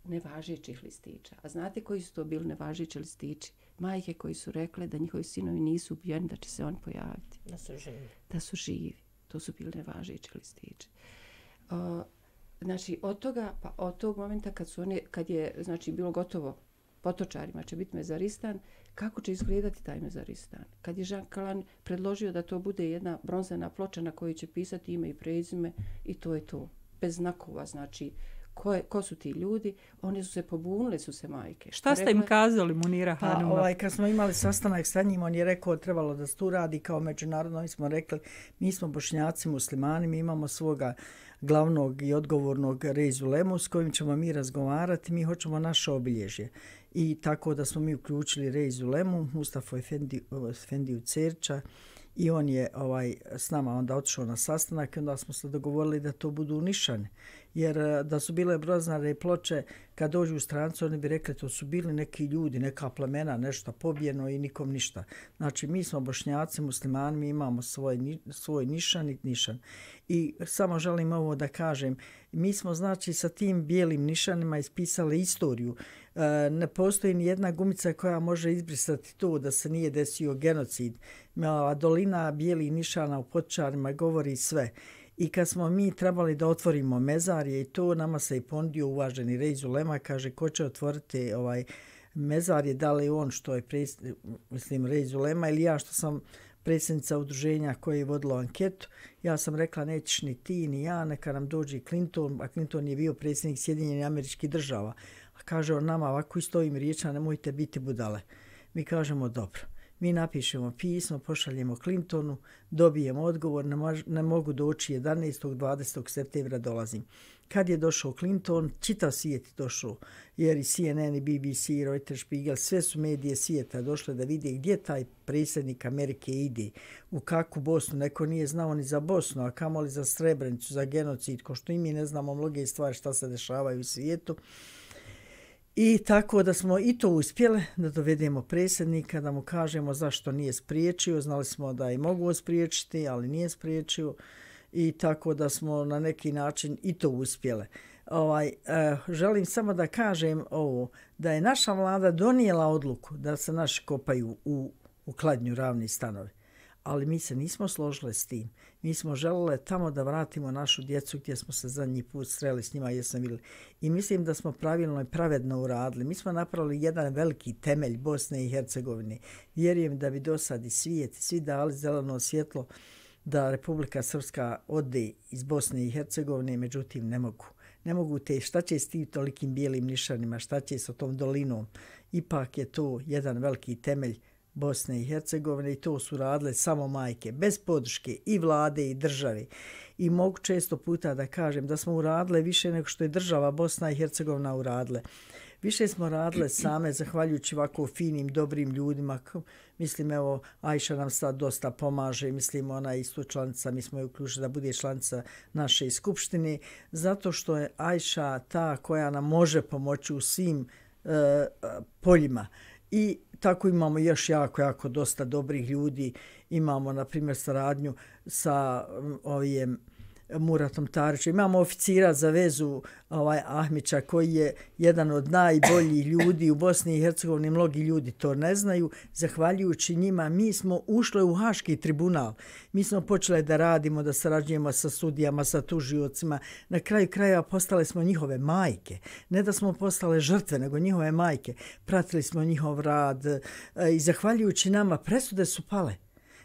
D: nevažećih listića. A znate koji su to bili nevažeći listići? Majke koji su rekle da njihovi sinovi nisu ubijeni, da će se oni pojaviti.
C: Da su živi.
D: Da su živi. To su bili nevažeći listići. O, znači, od toga, pa od tog momenta kad, su one, kad je znači, bilo gotovo Potočarima će biti Mezaristan, kako će izgledati taj Mezaristan? Kad je Jean Klein predložio da to bude jedna bronzana ploča na kojoj će pisati ime i prezime i to je to. Bez znakova, znači, Ko, je, ko su ti ljudi, one su se pobunile, su se majke.
A: Šta ste im kazali, Munira Hanuma?
B: Pa, ovaj, kad smo imali sastanak sa njim, on je rekao trebalo da se tu radi kao međunarodno. Mi smo rekli, mi smo Bošnjaci, muslimani, mi imamo svoga glavnog i odgovornog Reizulemu s kojim ćemo mi razgovarati, mi hoćemo naše obilježje. I tako da smo mi uključili Reizulemu, Mustafa Efendiju Cerča, i on je ovaj s nama onda otišao na sastanak i onda smo se dogovorili da to budu nišane. Jer da su bile broznare ploče, kad dođu u strancu, oni bi rekli to su bili neki ljudi, neka plemena, nešto pobijeno i nikom ništa. Znači, mi smo Bošnjaci, muslimani, mi imamo svoj, svoj nišan i nišan. I samo želim ovo da kažem, mi smo znači sa tim bijelim nišanima ispisali istoriju. E, ne postoji ni jedna gumica koja može izbrisati to da se nije desio genocid. A dolina bijelih nišana u Potočarima govori sve. I kad smo mi trebali da otvorimo mezarje i to, nama se i ponudio uvaženi Reizulema, kaže ko će otvoriti ovaj mezarje, da li on što je pres, mislim Reizulema ili ja što sam predsjednica udruženja koje je vodilo anketu. Ja sam rekla nećeš ni ti ni ja, neka nam dođe Clinton, a Clinton je bio predsjednik Sjedinjenih Američkih Država. A kaže on nama ovako isto ovim riječima, nemojte biti budale. Mi kažemo dobro. Mi napišemo pismo, pošaljemo Clintonu, dobijemo odgovor, ne, mož, ne mogu doći jedanaestog dvadesetog septembra dolazim. Kad je došao Clinton, čitav svijet je došao, jer i C N N, i B B C, Reuters, Spiegel, sve su medije svijeta došle da vide gdje taj predsjednik Amerike ide, u kakvu Bosnu. Neko nije znao ni za Bosnu, a kamoli za Srebrenicu, za genocid, ko što i mi ne znamo mnoge stvari šta se dešavaju u svijetu. I tako da smo i to uspjeli da dovedemo predsjednika, da mu kažemo zašto nije spriječio. Znali smo da je mogu spriječiti, ali nije spriječio. I tako da smo na neki način i to uspjele. Ovaj, eh, želim samo da kažem ovo, da je naša vlada donijela odluku da se naši kopaju u, u Kladnju ravni stanovi. Ali mi se nismo složile s tim. Mi smo želele tamo da vratimo našu djecu gdje smo se zadnji put sreli s njima, jesam vidjeli. I mislim da smo pravilno i pravedno uradili. Mi smo napravili jedan veliki temelj Bosne i Hercegovine. Vjerujem da bi do sad i svijet, svi dali zeleno svjetlo da Republika Srpska ode iz Bosne i Hercegovine, međutim ne mogu. Ne mogu te, šta će s tim tolikim bijelim nišanima, šta će s tom dolinom. Ipak je to jedan veliki temelj Bosne i Hercegovine i to su radile samo majke, bez podrške i vlade i države. I mogu često puta da kažem da smo uradile više nego što je država Bosna i Hercegovina uradile. Više smo radile same, zahvaljujući ovako finim, dobrim ljudima. Mislim, evo, Ajša nam sad dosta pomaže, mislim, ona je isto članica, mi smo je uključili da bude članica naše skupštine, zato što je Ajša ta koja nam može pomoći u svim uh, poljima. I tako imamo još jako, jako dosta dobrih ljudi. Imamo, na primjer, saradnju sa um, ovim Muratom Tarićem. Imamo oficira za vezu ovaj Ahmića koji je jedan od najboljih ljudi u Bosni i Hercegovini. Mnogi ljudi to ne znaju. Zahvaljujući njima mi smo ušli u Haški tribunal. Mi smo počeli da radimo, da sarađujemo sa sudijama, sa tužiocima. Na kraju krajeva postale smo njihove majke. Ne da smo postale žrtve, nego njihove majke. Pratili smo njihov rad i zahvaljujući nama presude su pale.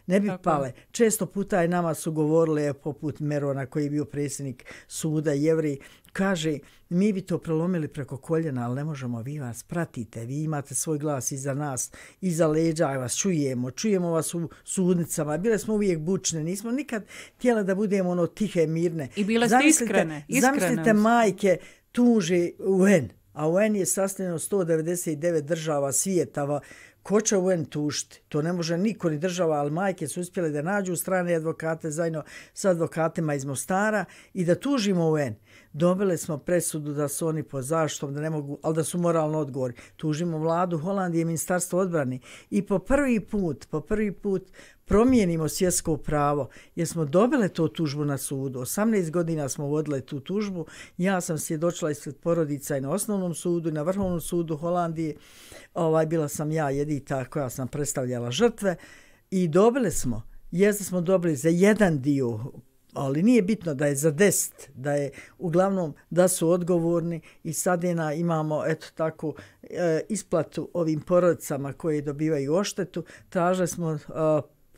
B: Ne bi Tako. pale. Često puta je nama su govorile, poput Merona koji je bio predsjednik suda Jevrej, kaže mi bi to prelomili preko koljena, ali ne možemo, vi vas pratite, vi imate svoj glas iza nas, iza leđa vas čujemo, čujemo vas u sudnicama, bile smo uvijek bučne, nismo nikad htjeli da budemo ono tihe, mirne.
A: I bile ste iskrene. iskrene.
B: Zamislite majke tuže U N, a U N je sastavljeno sto devedeset devet država svijeta. Ko će U N tužiti? To ne može niko ni država, ali majke su uspjele da nađu strane advokate zajedno sa advokatima iz Mostara i da tužimo U N. Dobili smo presudu da su oni po zaštitom, da ne mogu, ali da su moralno odgovorni. Tužimo vladu Holandije i ministarstvo odbrane i po prvi put, po prvi put promijenimo svjetsko pravo jer smo dobile to tužbu na sudu. osamnaest godina smo vodile tu tužbu. Ja sam svjedočila ispred porodica i na osnovnom sudu i na vrhovnom sudu Holandije. Ovaj, bila sam ja jedita koja sam predstavljala žrtve i dobili smo, jeste smo dobili za jedan dio, ali nije bitno da je za deset, da je uglavnom da su odgovorni i sad je imamo eto tako e, isplatu ovim porodicama koje dobivaju oštetu. Tražili smo, e,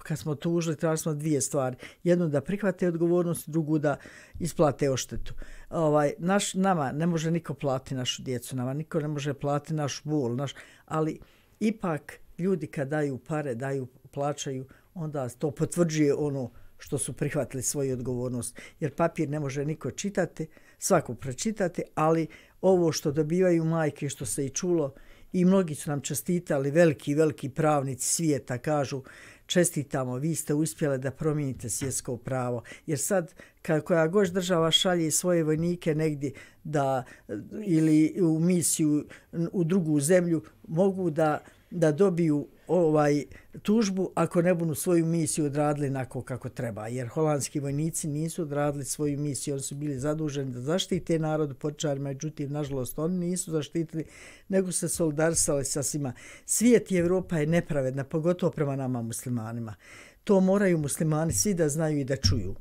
B: kad smo tužili, tražili smo dvije stvari. Jednu da prihvate odgovornost, drugu da isplate oštetu. Ovaj, naš, nama ne može niko platiti našu djecu, nama niko ne može platiti naš bol, naš, ali ipak ljudi kad daju pare, daju, plaćaju, onda to potvrđuje ono što su prihvatili svoju odgovornost. Jer papir ne može niko čitati, svako pročitati, ali ovo što dobivaju majke, što se i čulo, i mnogi su nam čestitali, veliki, veliki pravnici svijeta kažu čestitamo, vi ste uspjeli da promijenite svjetsko pravo. Jer sad, kad koja god država šalje svoje vojnike negdje da, ili u misiju u drugu zemlju, mogu da, da dobiju ovaj tužbu ako ne budu svoju misiju odradili onako kako treba. Jer holandski vojnici nisu odradili svoju misiju, oni su bili zaduženi da zaštite narod počarima, međutim, nažalost, oni nisu zaštitili, nego se solidarisali sa svima. Svijet i Evropa je nepravedna, pogotovo prema nama muslimanima. To moraju muslimani svi da znaju i da čuju.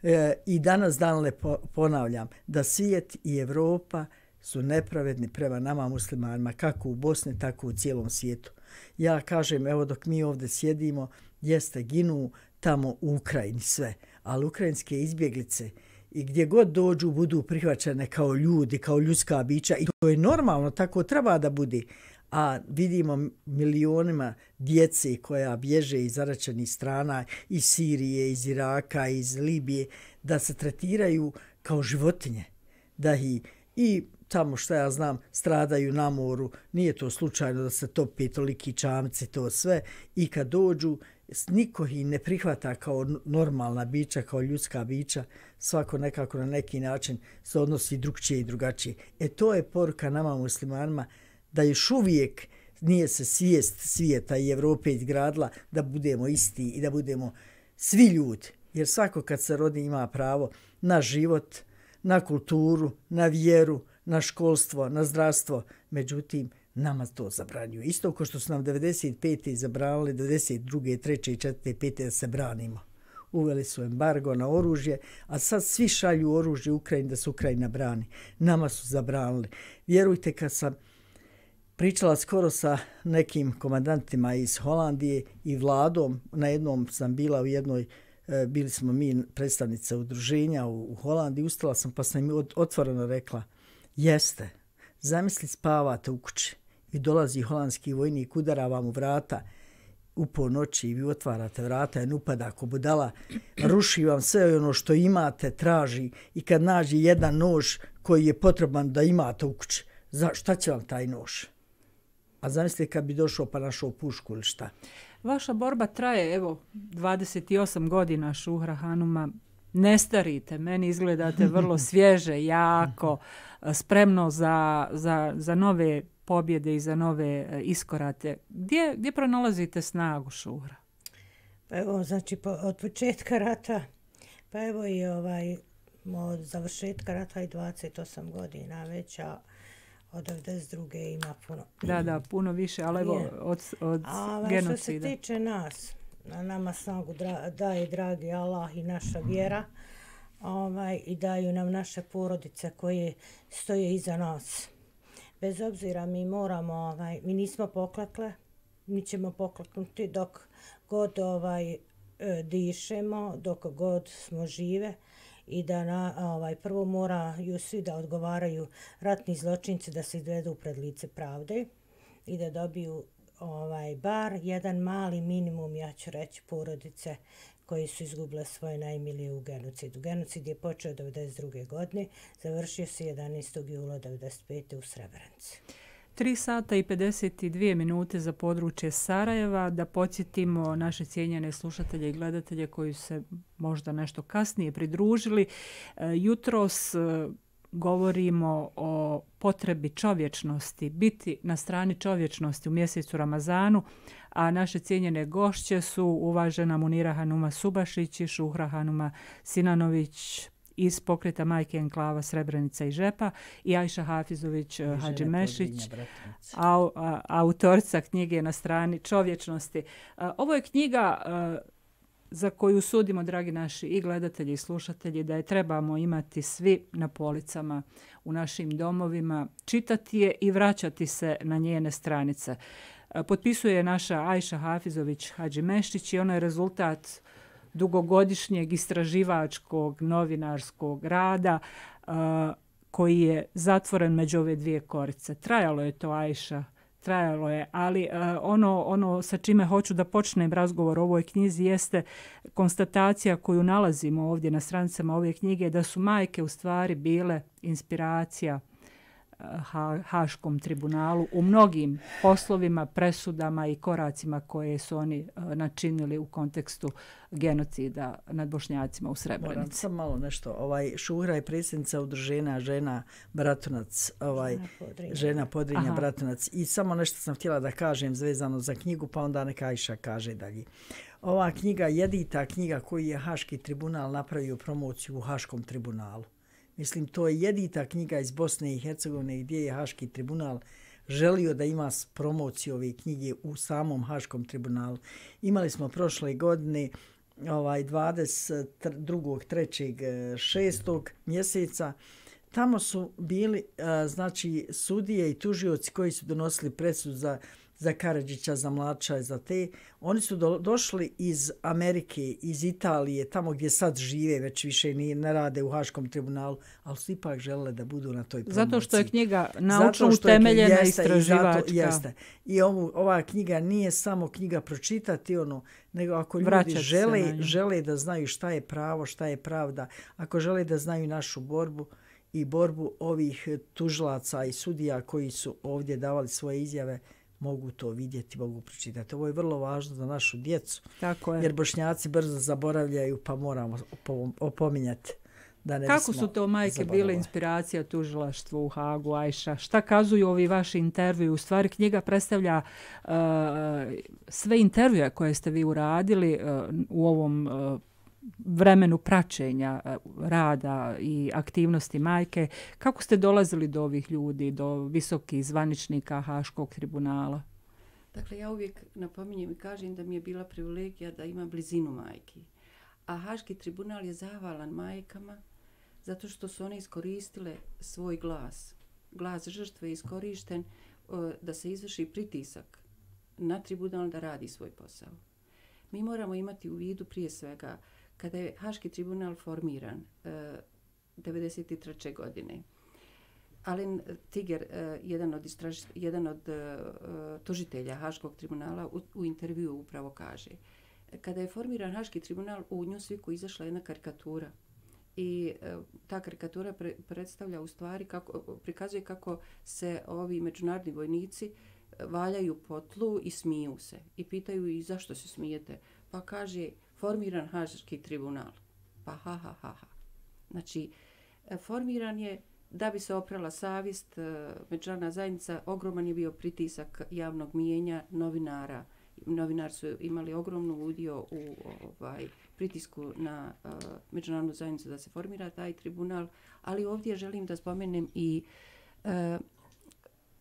B: E, I danas danle ponavljam da svijet i Evropa su nepravedni prema nama muslimanima, kako u Bosni, tako u cijelom svijetu. Ja kažem, evo dok mi ovdje sjedimo, jeste ginu tamo u Ukrajini sve, ali ukrajinske izbjeglice i gdje god dođu budu prihvaćene kao ljudi, kao ljudska bića i to je normalno, tako treba da bude. A vidimo milionima djece koja bježe iz zaraćenih strana, iz Sirije, iz Iraka, iz Libije, da se tretiraju kao životinje, da i, i tamo što ja znam stradaju na moru, nije to slučajno da se topi toliki čamci, to sve, i kad dođu niko ih ne prihvata kao normalna bića, kao ljudska bića, svako nekako na neki način se odnosi drugčije i drugačije. E to je poruka nama muslimanima da još uvijek nije se svijest svijeta i Evrope izgradila da budemo isti i da budemo svi ljudi. Jer svako kad se rodi ima pravo na život, na kulturu, na vjeru, na školstvo, na zdravstvo. Međutim, nama to zabranjuju. Isto kao što su nam devedeset pete zabranili, devedeset druge, treće i četvrte, pete da se branimo. Uveli su embargo na oružje, a sad svi šalju oružje Ukrajini da se Ukrajina brani. Nama su zabranili. Vjerujte, kad sam pričala skoro sa nekim komandantima iz Holandije i vladom, na jednom sam bila u jednoj, bili smo mi predstavnice udruženja u Holandiji, ustala sam pa sam im otvoreno rekla, jeste, zamisli spavate u kući i dolazi holandski vojnik, udara vam u vrata u ponoći i vi otvarate vrata, en upada ako budala, ruši vam sve ono što imate, traži i kad nađe jedan nož koji je potreban da imate u kući, za šta će vam taj nož? A zamislite kad bi došao pa našao pušku ili šta?
A: Vaša borba traje, evo, dvadeset osam godina, Šuhra Hanuma. Ne starite, meni izgledate vrlo svježe, jako, spremno za, za, za nove pobjede i za nove iskorate. Gdje, gdje pronalazite snagu, Šuhra?
C: Pa evo, znači, po, od početka rata, pa evo i ovaj, od završetka rata i dvadeset osam godina već, a od devedeset druge ima puno.
A: Da, da, puno više, ali evo od, od
C: a,
A: genocida.
C: Što se tiče nas, na nama snagu dra, daje dragi Allah i naša vjera ovaj, i daju nam naše porodice koje stoje iza nas. Bez obzira mi moramo, ovaj, mi nismo poklekle, mi ćemo pokleknuti dok god ovaj, dišemo, dok god smo žive. I da na, ovaj, prvo moraju svi da odgovaraju ratni zločinci da se izvedu pred lice pravde i da dobiju ovaj, bar jedan mali minimum, ja ću reći, porodice koji su izgubile svoje najmilije u genocidu. Genocid je počeo devedeset druge godine, završio se jedanaestog jula devedeset pete u Srebrenici.
A: tri sata i pedeset dvije minute za područje Sarajeva. Da podsjetimo naše cijenjene slušatelje i gledatelje koji se možda nešto kasnije pridružili. Jutros govorimo o potrebi čovječnosti, biti na strani čovječnosti u mjesecu Ramazanu, a naše cijenjene gošće su uvažena Munira Hanuma Subašić i Šuhra Hanuma Sinanović iz pokreta Majke Enklava Srebrenica i Žepa i Ajša Hafizović Hadžimešić, au, a, autorica knjige Na strani čovječnosti. A, ovo je knjiga a, za koju sudimo, dragi naši i gledatelji i slušatelji, da je trebamo imati svi na policama u našim domovima, čitati je i vraćati se na njene stranice. A, potpisuje naša Ajša Hafizović Hadžimešić i ono je rezultat dugogodišnjeg istraživačkog novinarskog rada uh, koji je zatvoren među ove dvije korice. Trajalo je to, Ajša, trajalo je, ali uh, ono, ono sa čime hoću da počnem razgovor o ovoj knjizi jeste konstatacija koju nalazimo ovdje na stranicama ove knjige, da su majke u stvari bile inspiracija Ha, Haškom tribunalu u mnogim poslovima, presudama i koracima koje su oni uh, načinili u kontekstu genocida nad Bošnjacima u Srebrenici.
B: Moram sam malo nešto. Ovaj, Šuhra je predsjednica udruženja žena Bratunac, ovaj, Podrinja. žena Podrinja Aha. Bratunac. I samo nešto sam htjela da kažem zvezano za knjigu, pa onda neka Ajša kaže dalje. Ova knjiga je jedita knjiga koju je Haški tribunal napravio promociju u Haškom tribunalu. Mislim, to je jedita knjiga iz Bosne i Hercegovine gdje je Haški tribunal želio da ima promociju ove knjige u samom Haškom tribunalu. Imali smo prošle godine ovaj dvadeset drugog trećeg šestog mjeseca. Tamo su bili znači sudije i tužioci koji su donosili presudu za za Karadžića, za Mlača, za te. Oni su do, došli iz Amerike, iz Italije, tamo gdje sad žive, već više ni, ne rade u Haškom tribunalu, ali su ipak želele da budu na toj promociji.
A: Zato što je knjiga naučno utemeljena, istraživačka.
B: I, jeste. I ovu, ova knjiga nije samo knjiga pročitati, ono, nego ako ljudi Vraćati žele, žele da znaju šta je pravo, šta je pravda, ako žele da znaju našu borbu i borbu ovih tužilaca i sudija koji su ovdje davali svoje izjave, mogu to vidjeti, mogu pročitati. Ovo je vrlo važno za našu djecu,
A: Tako je.
B: jer Bošnjaci brzo zaboravljaju, pa moramo opominjati da ne
A: Kako su to majke bile inspiracija tužilaštvu u Hagu, Ajša? Šta kazuju ovi vaši intervju? U stvari knjiga predstavlja uh, sve intervjue koje ste vi uradili uh, u ovom uh, vremenu praćenja uh, rada i aktivnosti majke. Kako ste dolazili do ovih ljudi, do visokih zvaničnika Haškog tribunala?
D: Dakle, ja uvijek napominjem i kažem da mi je bila privilegija da imam blizinu majki. A Haški tribunal je zahvalan majkama zato što su one iskoristile svoj glas. Glas žrtve je iskorišten uh, da se izvrši pritisak na tribunal da radi svoj posao. Mi moramo imati u vidu prije svega kada je Haški tribunal formiran uh, devedeset treće godine. Alen Tiger, uh, jedan od, istraž, jedan od uh, tužitelja Haškog tribunala u, u intervju upravo kaže: kada je formiran Haški tribunal, u Newsweeku izašla jedna karikatura i e, ta karikatura pre, predstavlja u stvari, kako, prikazuje kako se ovi međunarodni vojnici valjaju po tlu i smiju se. I pitaju i zašto se smijete? Pa kaže, formiran Haški tribunal. Pa ha, ha, ha, ha. Znači, formiran je da bi se oprala savjest, međunarodna zajednica, ogroman je bio pritisak javnog mijenja, novinara. Novinari su imali ogromnu udio u ovaj, pritisku na uh, međunarodnu zajednicu da se formira taj tribunal, ali ovdje želim da spomenem i uh,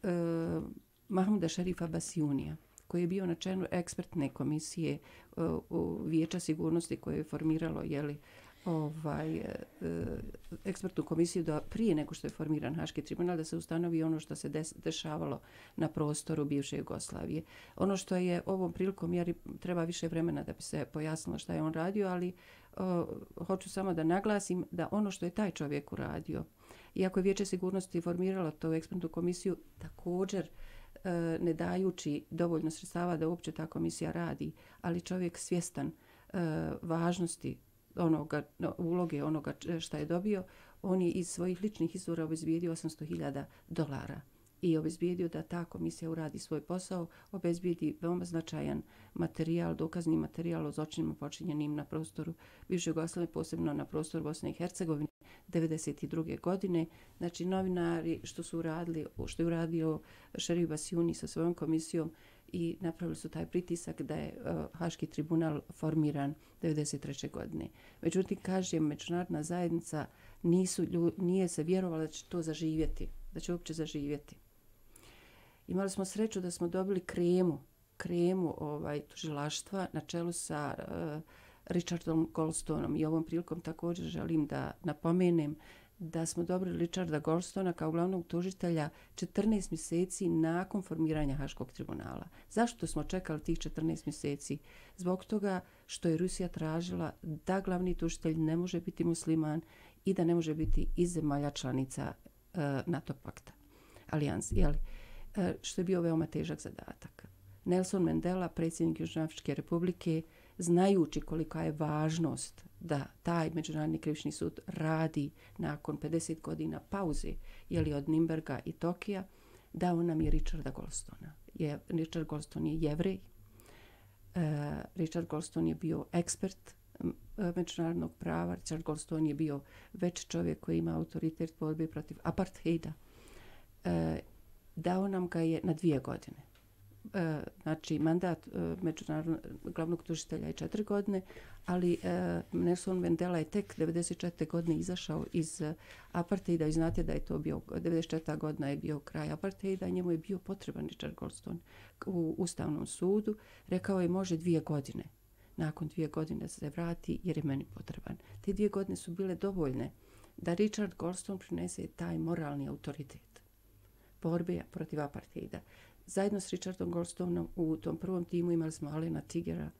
D: uh, Mahmuda Šerifa Basijunija, koji je bio na čelu ekspertne komisije uh, u Vijeća sigurnosti koje je formiralo jeli, ovaj, ekspertnu komisiju da prije nego što je formiran Haški tribunal da se ustanovi ono što se des, dešavalo na prostoru bivše Jugoslavije. Ono što je ovom prilikom, jer treba više vremena da bi se pojasnilo šta je on radio, ali o, hoću samo da naglasim da ono što je taj čovjek uradio, iako je Vijeće sigurnosti formiralo tu ekspertnu komisiju, također e, ne dajući dovoljno sredstava da uopće ta komisija radi, ali čovjek svjestan e, važnosti onoga, uloge onoga šta je dobio, on je iz svojih ličnih izvora obezbijedio osamsto hiljada dolara i obezbijedio da ta komisija uradi svoj posao, obezbijedi veoma značajan materijal, dokazni materijal o zločinima počinjenim na prostoru bivše Jugoslavije, posebno na prostoru Bosne i Hercegovine devedeset druge godine. Znači, novinari što su uradili, što je uradio Šerif Basijuni sa svojom komisijom i napravili su taj pritisak da je uh, Haški tribunal formiran devedeset treće godine. Međutim, kažem, međunarodna zajednica nisu, nije se vjerovala da će to zaživjeti, da će uopće zaživjeti. Imali smo sreću da smo dobili kremu, kremu ovaj, tužilaštva na čelu sa uh, Richardom Goldstoneom i ovom prilikom također želim da napomenem da smo dobili Richarda Goldstona kao glavnog tužitelja četrnaest mjeseci nakon formiranja Haškog tribunala. Zašto smo čekali tih četrnaest mjeseci? Zbog toga što je Rusija tražila da glavni tužitelj ne može biti musliman i da ne može biti iz zemalja članica uh, NATO pakta, alijansi, jeli? Uh, što je bio veoma težak zadatak. Nelson Mandela, predsjednik Južnoafričke republike, znajući kolika je važnost da taj Međunarodni krivični sud radi nakon pedeset godina pauze, jeli od Nimberga i Tokija, dao nam je Richarda Goldstona. Je, Richard Goldstone je Jevrej. Uh, Richard Goldstone je bio ekspert uh, međunarodnog prava. Richard Goldstone je bio već čovjek koji ima autoritet borbe protiv apartheida. Uh, dao nam ga je na dvije godine. Uh, znači mandat uh, međunarodnog glavnog tužitelja je četiri godine, ali uh, Nelson Mandela je tek devedeset četvrte godine izašao iz uh, apartheida i znate da je to bio, devedeset četvrta godina je bio kraj apartheida i njemu je bio potreban Richard Goldstone u Ustavnom sudu. Rekao je može dvije godine. Nakon dvije godine se vrati jer je meni potreban. Te dvije godine su bile dovoljne da Richard Goldstone prinese taj moralni autoritet borbe protiv apartheida. Zajedno s Richardom Goldstoneom u tom prvom timu imali smo Alena Tigera,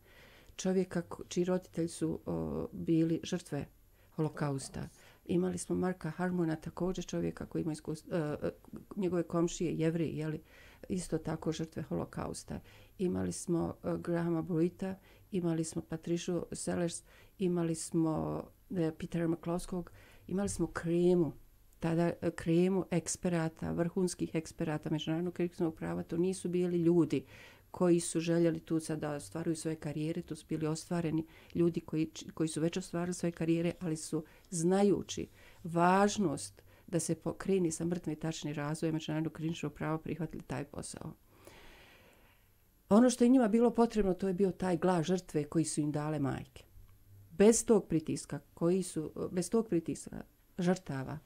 D: čovjeka čiji roditelji su o, bili žrtve holokausta. Imali smo Marka Harmona, također čovjeka koji ima iskustvo, uh, njegove komšije, Jevreji, jeli, isto tako žrtve holokausta. Imali smo uh, Grahama Bruita, imali smo Patricia Sellers, imali smo uh, Petera McCloskog, imali smo kremu, tada kremu eksperata, vrhunskih eksperata međunarodnog krivičnog prava. To nisu bili ljudi koji su željeli tu sad da ostvaruju svoje karijere, tu su bili ostvareni ljudi koji, koji su već ostvarili svoje karijere, ali su znajući važnost da se pokreni sa mrtve tačni razvoja međunarodnog krivičnog prava prihvatili taj posao. Ono što je njima bilo potrebno, to je bio taj glas žrtve koji su im dale majke. Bez tog pritiska, koji su, bez tog pritiska žrtava,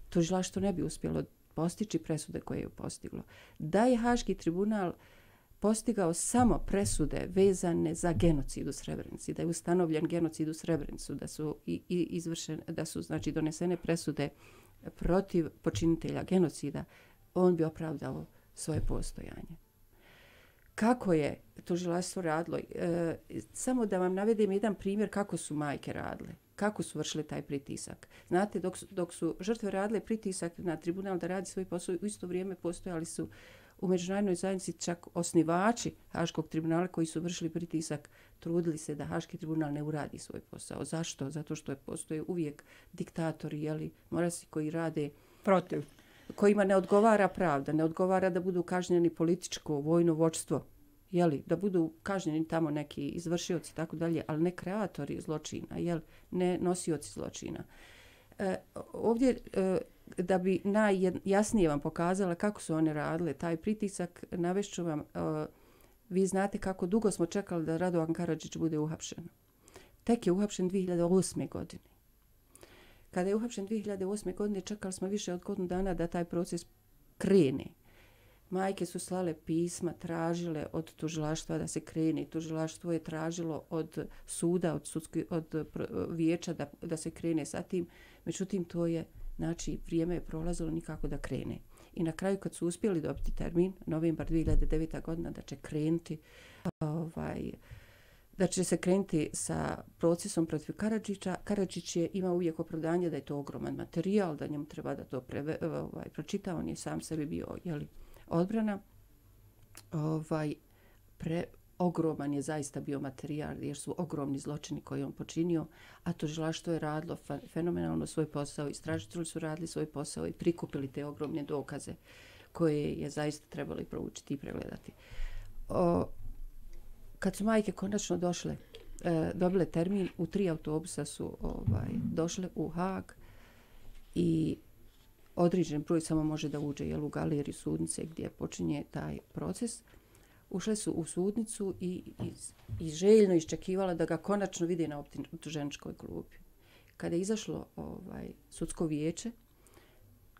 D: tužilaštvo ne bi uspjelo postići presude koje je postiglo. Da je Haški tribunal postigao samo presude vezane za genocid u Srebrenici, da je ustanovljen genocid u Srebrenicu, da su i, i izvršene, da su znači donesene presude protiv počinitelja genocida, on bi opravdao svoje postojanje. Kako je tužilaštvo radilo? E, samo da vam navedem jedan primjer kako su majke radile, kako su vršile taj pritisak. Znate, dok su, dok su žrtve radile pritisak na tribunal da radi svoj posao, u isto vrijeme postojali su u međunarodnoj zajednici čak osnivači Haškog tribunala koji su vršili pritisak, trudili se da Haški tribunal ne uradi svoj posao. Zašto? Zato što je postoje uvijek diktatori, jeli, morasi koji rade
A: protiv,
D: kojima ne odgovara pravda, ne odgovara da budu kažnjeni političko, vojno vođstvo, jeli, da budu kažnjeni tamo neki izvršioci i tako dalje, ali ne kreatori zločina, jel, ne nosioci zločina. E, ovdje, e, da bi najjasnije vam pokazala kako su one radile taj pritisak, navešću vam, e, vi znate kako dugo smo čekali da Radovan Karadžić bude uhapšen. Tek je uhapšen dvije hiljade osme. godine. Kada je uhapšen dvije hiljade osme. godine, čekali smo više od godinu dana da taj proces krene. Majke su slale pisma, tražile od tužilaštva da se krene. Tužilaštvo je tražilo od suda, od, sudski, od vijeća da, da se krene sa tim. Međutim, to je, znači, vrijeme je prolazilo nikako da krene. I na kraju, kad su uspjeli dobiti termin, novembar dvije hiljade devete. godina, da će krenuti, ovaj, da će se krenuti sa procesom protiv Karadžića. Karadžić je imao uvijek opravdanje da je to ogroman materijal, da njemu treba da to preve, ovaj, pročita. On je sam sebi bio, jeli, odbrana. Ovaj, pre, ogroman je zaista bio materijal jer su ogromni zločini koje on počinio, a tužilaštvo je radilo fenomenalno svoj posao, istražitelji su radili svoj posao i prikupili te ogromne dokaze koje je zaista trebali proučiti i pregledati. O, kad su majke konačno došle, e, dobile termin, u tri autobusa su ovaj, došle u Haag i određen broj samo može da uđe, jel, u galeriju sudnice gdje počinje taj proces. Ušle su u sudnicu i, i, i željno iščekivala da ga konačno vide na optuženičkoj klupi. Kada je izašlo ovaj, sudsko vijeće,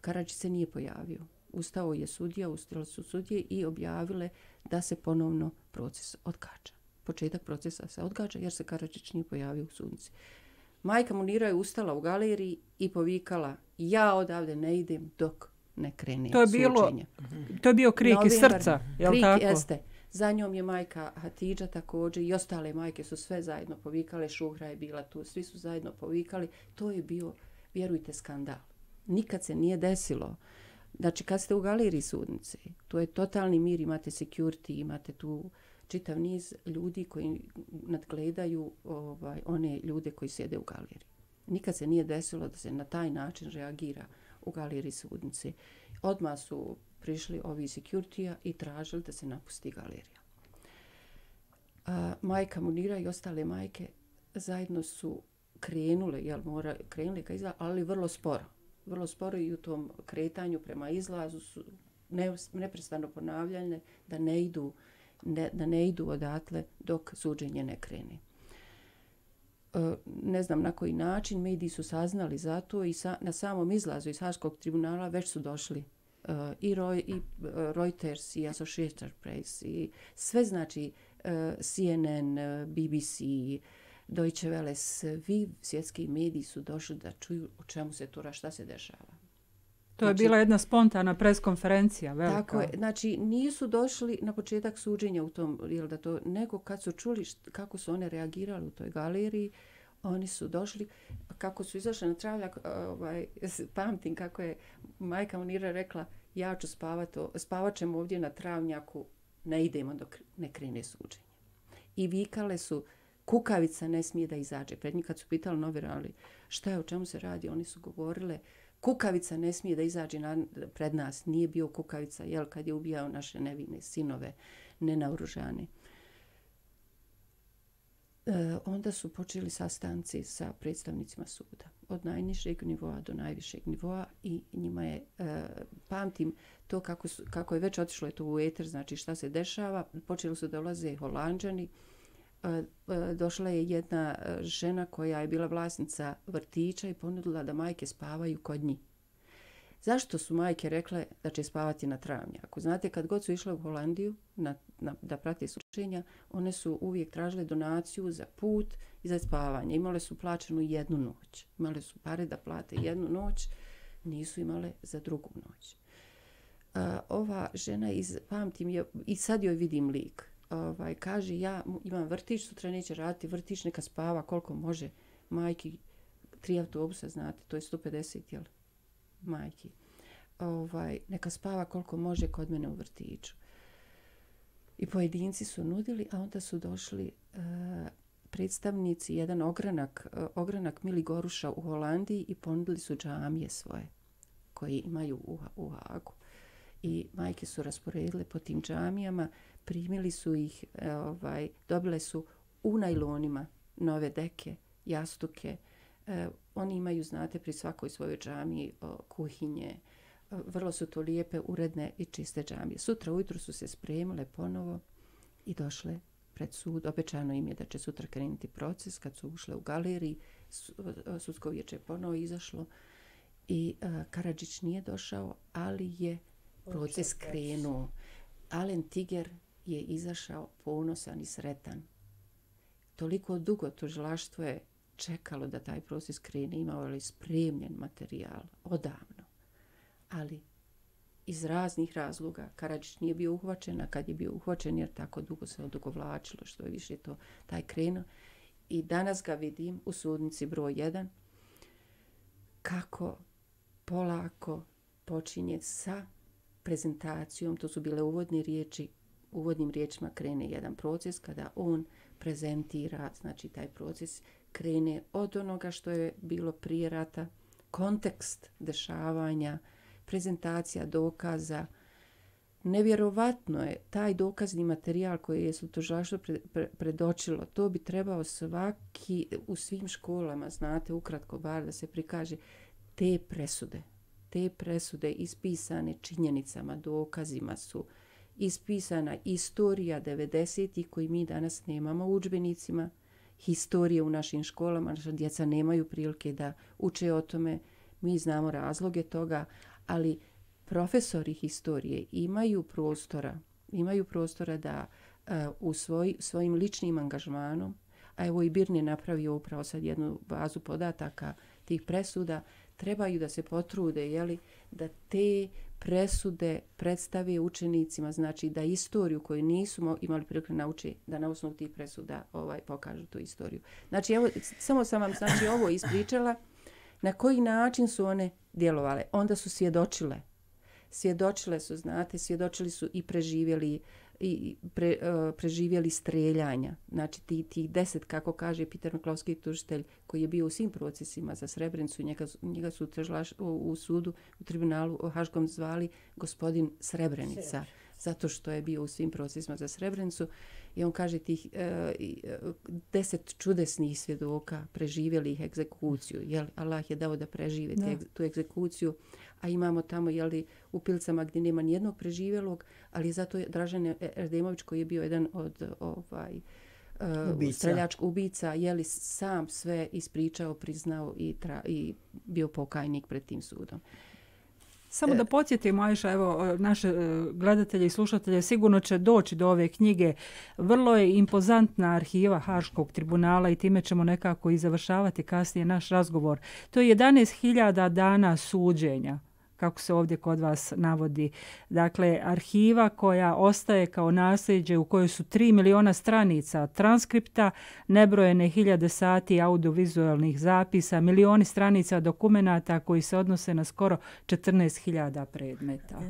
D: Karadžić se nije pojavio. Ustao je sudija, ustale su sudije i objavile da se ponovno proces odgađa. Početak procesa se odgađa jer se Karadžić nije pojavio u sudnici. Majka Munira je ustala u galeriji i povikala: ja odavde ne idem dok ne krene
A: to je bilo,
D: suđenje.
A: To je bio krik iz srca, je li tako?
D: Krik jeste. Za njom je majka Hatidža također i ostale majke su sve zajedno povikale, Šuhra je bila tu, svi su zajedno povikali. To je bio, vjerujte, skandal. Nikad se nije desilo. Znači, kad ste u galeriji sudnice, to je totalni mir, imate security, imate tu čitav niz ljudi koji nadgledaju ovaj, one ljude koji sjede u galeriji. Nikad se nije desilo da se na taj način reagira u galeriji sudnice. Odmah su prišli ovi security-a i tražili da se napusti galerija. A, majka Munira i ostale majke zajedno su krenule, jel, mora, krenule ka izlazu, ali vrlo sporo. Vrlo sporo i u tom kretanju prema izlazu su ne, neprestano ponavljane da ne idu, ne, da ne idu odatle dok suđenje ne krene. E, ne znam na koji način, mediji su saznali za to i sa, na samom izlazu iz Haškog tribunala već su došli uh, i, Roy, i uh, Reuters i Associated Press i sve, znači uh, C N N, uh, B B C, Deutsche Welle, svi svjetski mediji su došli da čuju o čemu se to, šta se dešava.
A: To je znači, bila jedna spontana preskonferencija, velika.
D: Tako je. Znači, nisu došli na početak suđenja u tom, jel da to, nego kad su čuli št, kako su one reagirali u toj galeriji, oni su došli, kako su izašli na travljak, ovaj, pamtim kako je majka Munira rekla: ja ću spavat, spavat ćemo ovdje na travnjaku, ne idemo dok ne krene suđenje. I vikale su: kukavica ne smije da izađe. Pred njih kad su pitali novinari šta je, o čemu se radi, oni su govorile: kukavica ne smije da izađe na, pred nas. Nije bio kukavica, jel, kad je ubijao naše nevine sinove, nenaoružane. E, onda su počeli sastanci sa predstavnicima suda. Od najnižeg nivoa do najvišeg nivoa i njima je, e, pamtim to kako, su, kako je već otišlo je to u eter, znači šta se dešava. Počeli su da ulaze Holanđani. E, e, došla je jedna žena koja je bila vlasnica vrtića i ponudila da majke spavaju kod njih. Zašto su majke rekle da će spavati na travnjaku? Znate, kad god su išle u Holandiju na, na, da prate sučenja, one su uvijek tražile donaciju za put i za spavanje. Imale su plaćenu jednu noć. Imale su pare da plate jednu noć, nisu imale za drugu noć. Uh, ova žena, iz, pamtim je, i sad joj vidim lik, ovaj, kaže ja imam vrtić, sutra neće raditi vrtić, neka spava koliko može. Majki, tri autobusa, znate, to je sto pedeset, jel? Majki. Ovaj, neka spava koliko može kod mene u vrtiću. I pojedinci su nudili, a onda su došli uh, predstavnici, jedan ogranak, uh, ogranak Mili Goruša u Holandiji i ponudili su džamije svoje koje imaju u, u Hagu. I majke su rasporedile po tim džamijama, primili su ih, uh, ovaj, dobile su u najlonima nove deke, jastuke. Uh, oni imaju, znate, pri svakoj svojoj džamiji uh, kuhinje. Uh, vrlo su to lijepe, uredne i čiste džamije. Sutra ujutro su se spremile ponovo i došle pred sud. Obećano im je da će sutra krenuti proces. Kad su ušle u galeriji, sudsko vijeće je ponovo izašlo i uh, Karadžić nije došao, ali je proces krenuo. Alen Tiger je izašao ponosan i sretan. Toliko dugo tužilaštvo je čekalo da taj proces krene, imao je spremljen materijal odavno. Ali iz raznih razloga Karadžić nije bio uhvaćen, a kad je bio uhvaćen jer tako dugo se odugovlačilo, što je više to taj krenuo. I danas ga vidim u sudnici broj jedan kako polako počinje sa prezentacijom, to su bile uvodne riječi, uvodnim riječima krene jedan proces kada on prezentira, znači taj proces krene od onoga što je bilo prije rata, kontekst dešavanja, prezentacija dokaza. Nevjerovatno je taj dokazni materijal koji je su tužilaštvo pre, pre, predočilo. To bi trebao svaki u svim školama, znate, ukratko bar da se prikaže te presude. Te presude ispisane činjenicama, dokazima su ispisana istorija devedesetih koji mi danas nemamo u udžbenicima, historije u našim školama, naša djeca nemaju prilike da uče o tome, mi znamo razloge toga, ali profesori historije imaju prostora, imaju prostora da uh, u svoj, svojim ličnim angažmanom, a evo i Birn je napravio upravo sad jednu bazu podataka tih presuda, trebaju da se potrude, jeli, da te presude predstave učenicima, znači da istoriju koju nisu imali prilike nauči, da na osnovu tih presuda ovaj, pokažu tu istoriju. Znači, evo, samo sam vam znači, ovo ispričala, na koji način su one djelovale. Onda su svjedočile. Svjedočile su, znate, svjedočili su i preživjeli, i pre, uh, preživjeli streljanja. Znači, ti, ti deset, kako kaže Peter Meklovski tužitelj, koji je bio u svim procesima za Srebrenicu, njega, njega su trežlaš, u, u sudu, u tribunalu u Haškom zvali gospodin Srebrenica, zato što je bio u svim procesima za Srebrenicu. I on kaže tih uh, deset čudesnih svjedoka preživjelih egzekuciju. Jel, Allah je dao da prežive te, tu egzekuciju, a imamo tamo jeli, u Pilcama gdje nema nijednog preživjelog, ali zato je Dražen Erdemović koji je bio jedan od ovaj, uh, streljačkih ubica, jeli, sam sve ispričao, priznao i, tra, i bio pokajnik pred tim sudom.
A: Samo da podsjetimo, Ajša, evo, naše gledatelje i slušatelje sigurno će doći do ove knjige. Vrlo je impozantna arhiva Haškog tribunala i time ćemo nekako i završavati kasnije naš razgovor. To je jedanaest hiljada dana suđenja, kako se ovdje kod vas navodi. Dakle, arhiva koja ostaje kao nasljeđe u kojoj su tri miliona stranica transkripta, nebrojene hiljade sati audiovizualnih zapisa, milioni stranica dokumenata koji se odnose na skoro četrnaest hiljada predmeta.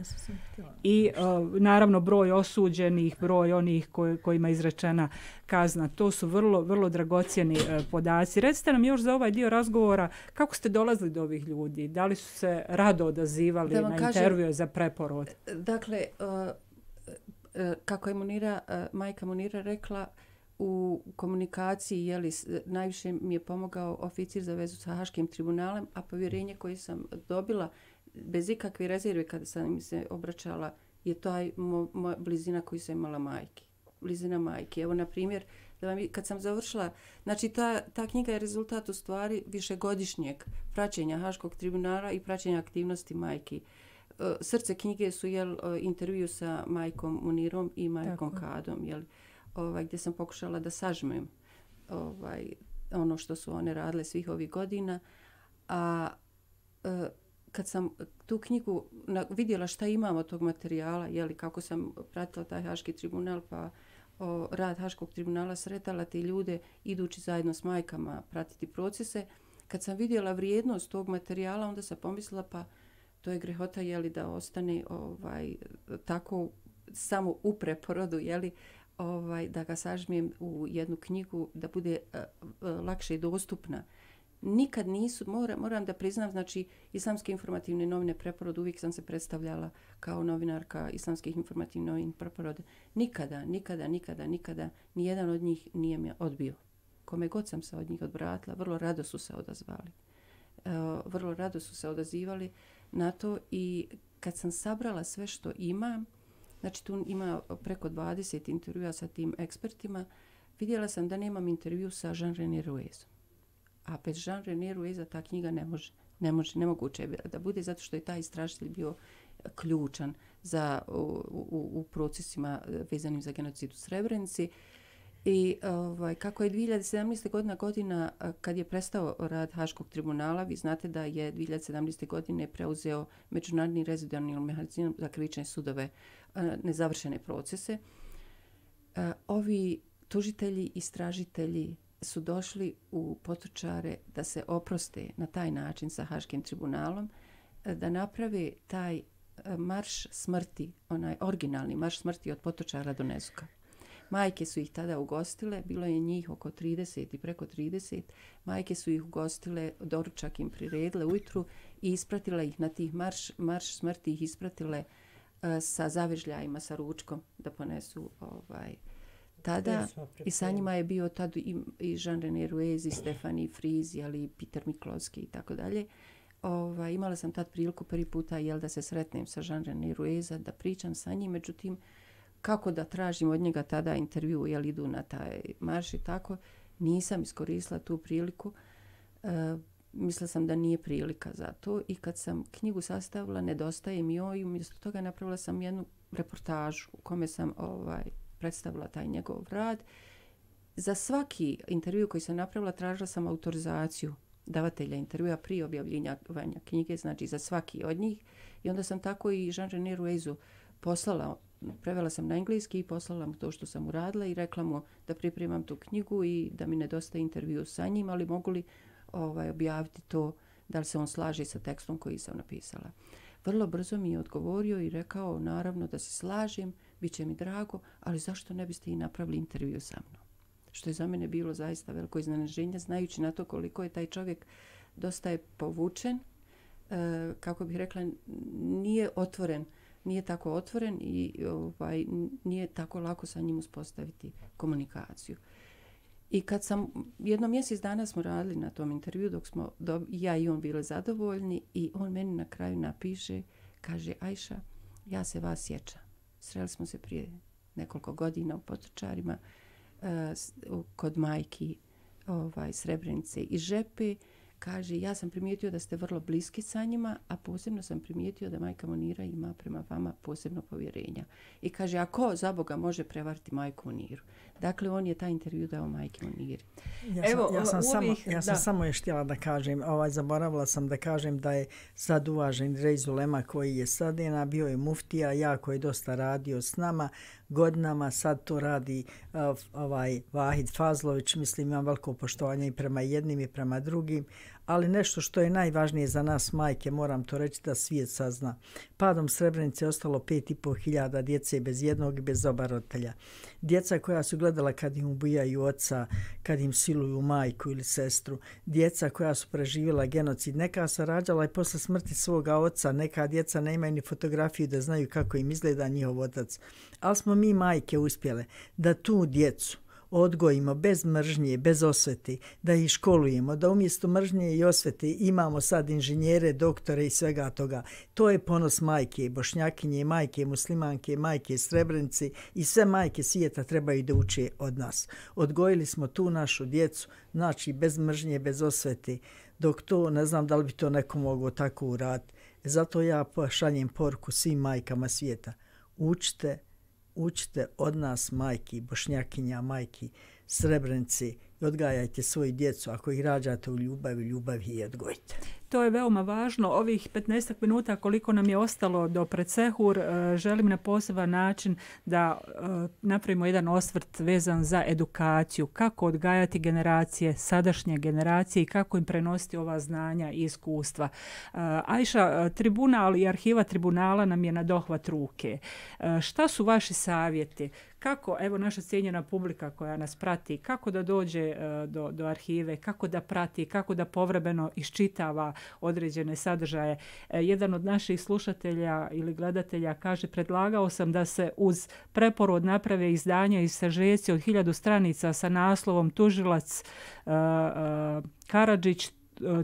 A: I uh, naravno broj osuđenih, broj onih koj, kojima je izrečena kazna. To su vrlo, vrlo dragocjeni uh, podaci. Recite nam još za ovaj dio razgovora kako ste dolazili do ovih ljudi? Da li su se rado odazivali na kažem, intervjue za preporod?
D: Dakle, uh, kako je Munira, majka Munira rekla, u komunikaciji je li, najviše mi je pomogao oficir za vezu sa Haškim tribunalem, a povjerenje koje sam dobila bez ikakve rezerve kada sam im se obraćala je taj mo, mo, blizina koju sam imala majki. Blizina majke. Evo, na primjer, da vam, kad sam završila, znači ta, ta knjiga je rezultat u stvari višegodišnjeg praćenja Haškog tribunala i praćenja aktivnosti majki. Srce knjige su jel, intervju sa majkom Munirom i majkom Tako. Kadom, jel, ovaj, gdje sam pokušala da sažmem ovaj, ono što su one radile svih ovih godina. A e, kad sam tu knjigu na, vidjela šta imamo od tog materijala, jeli, kako sam pratila taj Haški tribunal, pa o, rad Haškog tribunala, sretala te ljude idući zajedno s majkama pratiti procese, kad sam vidjela vrijednost tog materijala, onda sam pomislila pa to je grehota jeli, da ostane ovaj, tako samo u preporodu, jeli, ovaj, da ga sažmijem u jednu knjigu, da bude uh, uh, lakše i dostupna. Nikad nisu, mora, moram da priznam, znači Islamske informativne novine Preporod, uvijek sam se predstavljala kao novinarka Islamskih informativnih novina Preporod. Nikada, nikada, nikada, nikada, nijedan od njih nije me odbio. Kome god sam se od njih odvratila, vrlo rado su se odazvali. Uh, vrlo rado su se odazivali na to i kad sam sabrala sve što imam, znači tu ima preko dvadeset intervjua sa tim ekspertima, vidjela sam da nemam intervju sa Jean-René Ruezom. A bez Jean-René Rueza ta knjiga ne može, ne može, nemoguće je da bude, zato što je taj istražitelj bio ključan za, u, u, u procesima vezanim za genocid u Srebrenici. I ovaj, kako je dvije hiljade sedamnaeste. godina, godina kad je prestao rad Haškog tribunala, vi znate da je dvije hiljade sedamnaeste. godine preuzeo Međunarodni rezidualni mehanizam za krivične sudove nezavršene procese. Ovi tužitelji, istražitelji su došli u Potočare da se oproste na taj način sa Haškim tribunalom, da naprave taj marš smrti, onaj originalni marš smrti od Potočara do Nezuka. Majke su ih tada ugostile, bilo je njih oko trideset i preko trideset. Majke su ih ugostile, doručak im priredile ujutru i ispratile ih na tih marš, marš smrti, ih ispratile uh, sa zavežljajima, sa ručkom da ponesu ovaj, tada. I sa njima je bio tad i, i Jean-René Ruez, i Stefanie Fries, ali i Peter Miklovski i tako dalje. Ovaj, imala sam tad priliku prvi puta jel, da se sretnem sa Jean-René Rueza, da pričam sa njim, međutim, kako da tražim od njega tada intervju, jel idu na taj marš i tako, nisam iskoristila tu priliku. E, mislila sam da nije prilika za to i kad sam knjigu sastavila, nedostaje mi joj i umjesto toga napravila sam jednu reportažu u kome sam ovaj, predstavila taj njegov rad. Za svaki intervju koji sam napravila tražila sam autorizaciju davatelja intervjua prije objavljivanja knjige, znači za svaki od njih. I onda sam tako i Jean-René Ruezu poslala, prevela sam na engleski i poslala mu to što sam uradila i rekla mu da pripremam tu knjigu i da mi nedostaje intervju sa njim, ali mogu li ovaj, objaviti to, da li se on slaže sa tekstom koji sam napisala. Vrlo brzo mi je odgovorio i rekao naravno da se slažem, bit će mi drago, ali zašto ne biste i napravili intervju sa mnom? Što je za mene bilo zaista veliko iznenađenje, znajući na to koliko je taj čovjek dosta je povučen, e, kako bih rekla, nije otvoren, nije tako otvoren i ovaj, nije tako lako sa njim uspostaviti komunikaciju. I kad sam, jedno mjesec dana smo radili na tom intervju, dok smo do, ja i on bili zadovoljni i on meni na kraju napiše, kaže, Ajša, ja se vas sjećam. Sreli smo se prije nekoliko godina u Potočarima, uh, kod majki ovaj, Srebrenice i Žepe. Kaže, ja sam primijetio da ste vrlo bliski sa njima, a posebno sam primijetio da majka Munira ima prema vama posebno povjerenja. I kaže, a ko za Boga može prevariti majku Muniru? Dakle, on je taj intervju dao majke Muniri.
B: Ja sam, Evo, ja sam, samo, ja sam samo još htjela da kažem, ovaj, zaboravila sam da kažem da je sad uvažen Reiz Ulema koji je sadena, bio je muftija, jako je dosta radio s nama godinama, sad to radi uh, ovaj Vahid Fazlović, mislim imam veliko poštovanje i prema jednim i prema drugim, Ali nešto što je najvažnije za nas majke, moram to reći da svijet sazna. Padom Srebrenice ostalo pet i pol hiljada djece bez jednog i bez oba roditelja. Djeca koja su gledala kad im ubijaju oca, kad im siluju majku ili sestru. Djeca koja su preživjela genocid. Neka su rađala i posle smrti svoga oca. Neka djeca nemaju ni fotografiju da znaju kako im izgleda njihov otac. Ali smo mi majke uspjele da tu djecu odgojimo bez mržnje, bez osvete, da ih školujemo, da umjesto mržnje i osvete imamo sad inženjere, doktore i svega toga. To je ponos majke, bošnjakinje, majke, muslimanke, majke, Srebrenice i sve majke svijeta trebaju da uče od nas. Odgojili smo tu našu djecu, znači bez mržnje, bez osvete, dok to, ne znam da li bi to neko moglo tako uraditi. Zato ja šaljem poruku svim majkama svijeta. Učite, učite od nas majki, bošnjakinja, majki, Srebrenice i odgajajte svoju djecu. Ako ih rađate u ljubavi, ljubavi i odgojite.
A: To je veoma važno. Ovih petnaest minuta koliko nam je ostalo do predsehur, želim na poseban način da napravimo jedan osvrt vezan za edukaciju. Kako odgajati generacije, sadašnje generacije i kako im prenositi ova znanja i iskustva. Ajša, tribunal i arhiva tribunala nam je na dohvat ruke. Šta su vaši savjeti? Kako, evo naša cijenjena publika koja nas prati, kako da dođe do, do arhive, kako da prati, kako da povremeno iščitava određene sadržaje. Jedan od naših slušatelja ili gledatelja kaže, predlagao sam da se uz preporod naprave izdanja i sažeci od hiljadu stranica sa naslovom Tužilac uh, uh, Karadžić,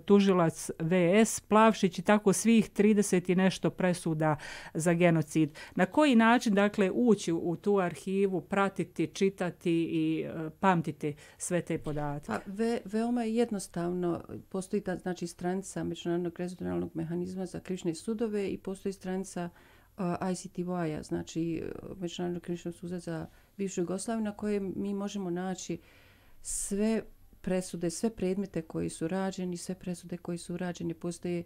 A: tužilac V S Plavšić i tako svih trideset i nešto presuda za genocid. Na koji način, dakle, ući u tu arhivu, pratiti, čitati i uh, pamtiti sve te podatke?
D: Pa, ve, veoma je jednostavno. Postoji ta, znači, stranica Međunarodnog rezultativnog mehanizma za krivične sudove i postoji stranica uh, I C T Y-a, znači Međunarodnog krivičnog suda za bivšu Jugoslaviju, na koje mi možemo naći sve presude, sve predmete koji su rađeni, sve presude koji su rađeni. Postoje,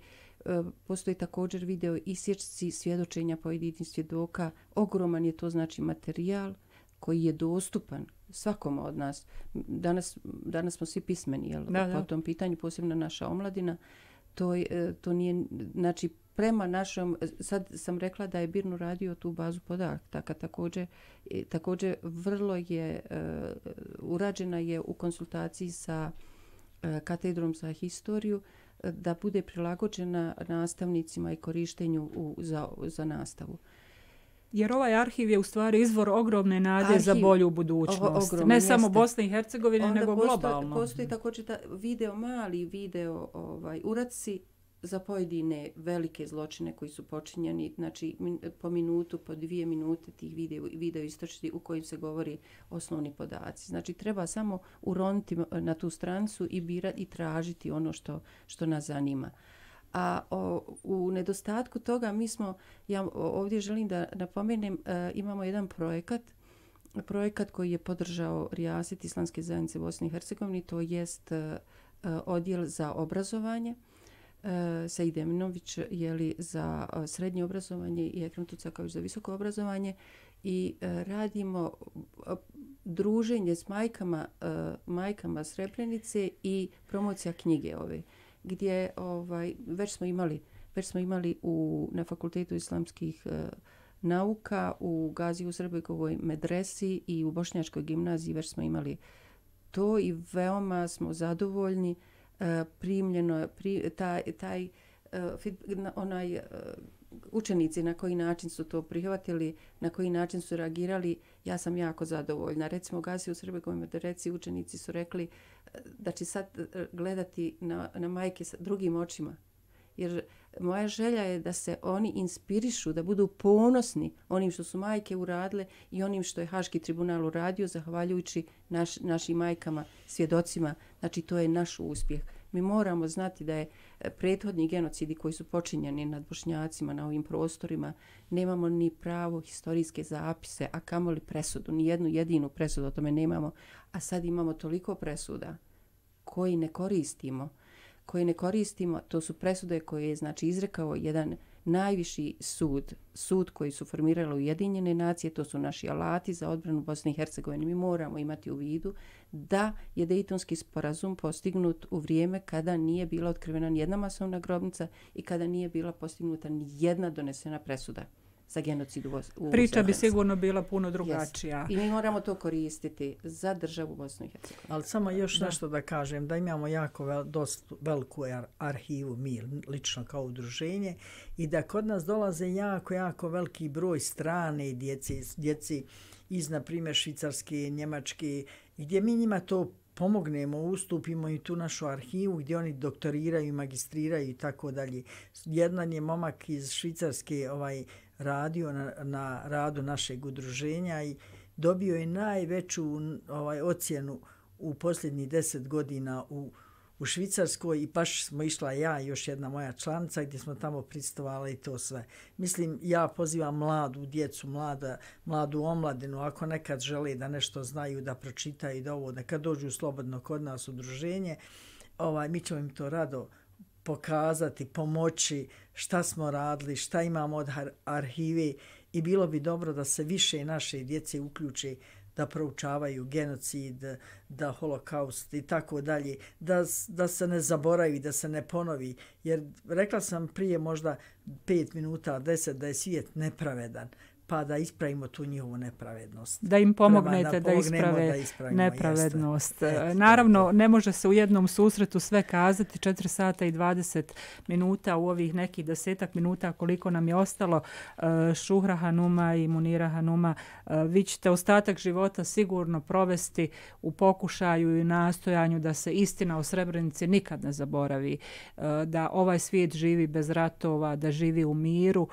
D: postoji također video isječci svjedočenja pojedinih svjedoka. Ogroman je to, znači, materijal koji je dostupan svakom od nas. Danas, danas smo svi pismeni, jel? Da, da. Po tom pitanju, posebno naša omladina. To, to nije, znači, prema našom, sad sam rekla da je B I R N uradio tu bazu podataka, također, također vrlo je, uh, urađena je u konsultaciji sa uh, katedrom za historiju, uh, da bude prilagođena nastavnicima i korištenju u, za, za nastavu.
A: Jer ovaj arhiv je u stvari izvor ogromne nade arhiv, za bolju budućnost.
D: Ogromne,
A: ne
D: jeste.
A: samo Bosne i Hercegovine,
D: onda
A: nego
D: postoji,
A: globalno.
D: Postoji također ta video, mali video ovaj, uradci za pojedine velike zločine koji su počinjeni, znači po minutu, po dvije minute tih video, video istočiti u kojim se govori osnovni podaci. Znači treba samo uroniti na tu stranicu i birati i tražiti ono što, što nas zanima. A o, u nedostatku toga mi smo, ja ovdje želim da napomenem, e, imamo jedan projekat, projekat koji je podržao Rijaset Islamske zajednice Bosne i Hercegovine, to jest e, odjel za obrazovanje. Said Eminović je li za srednje obrazovanje i Ekrem Tucakavić za visoko obrazovanje i radimo druženje s majkama, majkama Srebrenice i promocija knjige ove, gdje ovaj, već smo imali, već smo imali u, na Fakultetu islamskih nauka u Gazi Uzrebegovoj medresi i u Bošnjačkoj gimnaziji već smo imali to i veoma smo zadovoljni. Primljeno pri, taj, taj onaj učenici na koji način su to prihvatili, na koji način su reagirali, ja sam jako zadovoljna. Recimo, Gazi u Srbegovoj medresi učenici su rekli da će sad gledati na, na majke sa drugim očima. Jer moja želja je da se oni inspirišu, da budu ponosni onim što su majke uradile i onim što je Haški tribunal uradio, zahvaljujući naš, našim majkama, svjedocima. Znači, to je naš uspjeh. Mi moramo znati da je prethodni genocidi koji su počinjeni nad Bošnjacima na ovim prostorima, nemamo ni pravo historijske zapise, a kamoli presudu, ni jednu jedinu presudu o tome nemamo, a sad imamo toliko presuda koji ne koristimo. koje ne koristimo, to su presude koje je, znači, izrekao jedan najviši sud, sud koji su formirale Ujedinjene nacije, to su naši alati za odbranu Bosne i Hercegovine. Mi moramo imati u vidu da je Dejtonski sporazum postignut u vrijeme kada nije bila otkrivena nijedna masovna grobnica i kada nije bila postignuta nijedna donesena presuda za genocid u Bosni.
A: Priča bi sigurno bila puno drugačija.
D: Yes. I mi moramo to koristiti za državu Bosnu i Hercegovinu.
B: Ali samo još da. nešto da kažem, da imamo jako vel, dost veliku ar, arhivu mi, lično kao udruženje, i da kod nas dolaze jako, jako veliki broj strane djece, djeci iz, na primjer, Švicarske, Njemačke, gdje mi njima to pomognemo, ustupimo i tu našu arhivu gdje oni doktoriraju, magistriraju i tako dalje. Jedan je momak iz Švicarske ovaj radio na, na radu našeg udruženja i dobio je najveću ovaj ocjenu u posljednjih deset godina u, u Švicarskoj i baš smo išla ja i još jedna moja članica gdje smo tamo pristovali i to sve. Mislim, ja pozivam mladu djecu, mlada, mladu omladinu, ako nekad žele da nešto znaju, da pročitaju, da ovo, nekad dođu slobodno kod nas udruženje, ovaj, mi ćemo im to rado pokazati, pomoći šta smo radili, šta imamo od arhive i bilo bi dobro da se više naše djece uključe da proučavaju genocid, da holokaust i tako dalje, da, da se ne zaboravi, da se ne ponovi. Jer rekla sam prije možda pet minuta, deset, da je svijet nepravedan, pa da ispravimo tu njihovu nepravednost.
A: Da im pomognete da isprave da nepravednost. Jeste. Naravno, ne može se u jednom susretu sve kazati, četiri sata i dvadeset minuta u ovih nekih desetak minuta koliko nam je ostalo. Šuhra Hanuma i Munira Hanuma, vi ćete ostatak života sigurno provesti u pokušaju i nastojanju da se istina o Srebrenici nikad ne zaboravi, da ovaj svijet živi bez ratova, da živi u miru.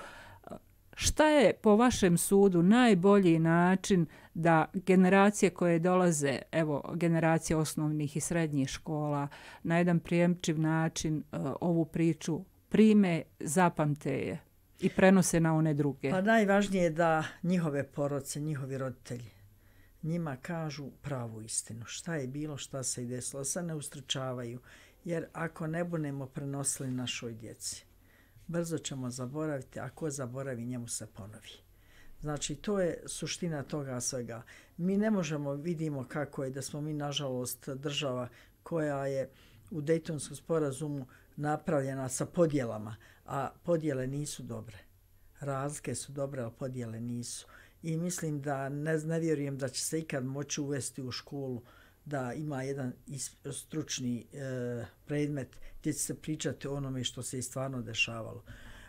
A: Šta je po vašem sudu najbolji način da generacije koje dolaze, evo generacije osnovnih i srednjih škola, na jedan prijemčiv način uh, ovu priču prime, zapamte je i prenose na one druge?
B: Pa najvažnije je da njihove porodice, njihovi roditelji njima kažu pravu istinu. Šta je bilo, šta se i desilo, se ne ustručavaju. Jer ako ne budemo prenosili našoj djeci, brzo ćemo zaboraviti, a ko zaboravi, njemu se ponovi. Znači, to je suština toga svega. Mi ne možemo, vidimo kako je da smo mi, nažalost, država koja je u Dejtonskom sporazumu napravljena sa podjelama, a podjele nisu dobre. Razlike su dobre, ali podjele nisu. I mislim da ne, ne vjerujem da će se ikad moći uvesti u školu da ima jedan stručni e, predmet gdje će se pričati o onome što se i stvarno dešavalo.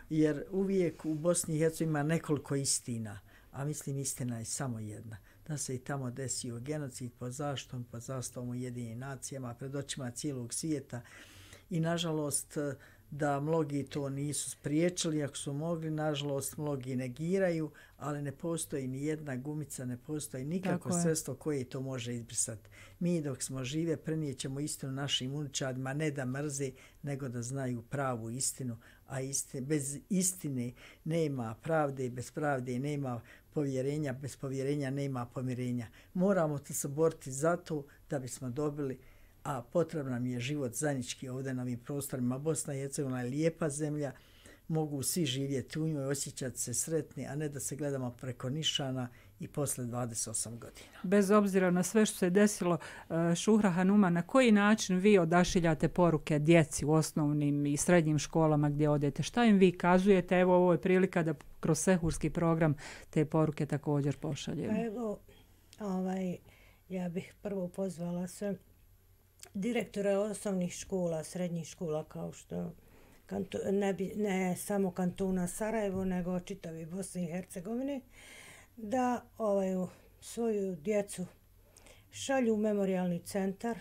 B: Jer uvijek u Bosni i Hercegovini ima nekoliko istina, a mislim istina je samo jedna. Da se i tamo desio genocid pod zaštom, pod zastavom Ujedinjenih nacijama, pred očima cijelog svijeta. I nažalost da mnogi to nisu spriječili, ako su mogli, nažalost mnogi negiraju, ali ne postoji ni jedna gumica, ne postoji nikako sredstvo koje to može izbrisati. Mi dok smo žive prenijećemo istinu našim unučadima, ne da mrze, nego da znaju pravu istinu, a istine, bez istine nema pravde, bez pravde nema povjerenja, bez povjerenja nema pomirenja. Moramo se boriti za to da bismo dobili, a potrebno nam je život zajednički ovdje na ovim prostorima. Bosna i Hercegovina je lijepa zemlja, mogu svi živjeti u njoj, osjećati se sretni, a ne da se gledamo preko nišana i posle dvadeset osam godina.
A: Bez obzira na sve što se desilo, Šuhra Hanuma, na koji način vi odašiljate poruke djeci u osnovnim i srednjim školama gdje odete? Šta im vi kazujete? Evo, ovo je prilika da kroz sehurski program te poruke također pošaljemo.
C: Pa evo, ovaj, ja bih prvo pozvala sve direktore osnovnih škola, srednjih škola, kao što kantu, ne, bi, ne samo kantuna Sarajevo, nego čitavi Bosne i Hercegovine, da ovaj, svoju djecu šalju u memorijalni centar,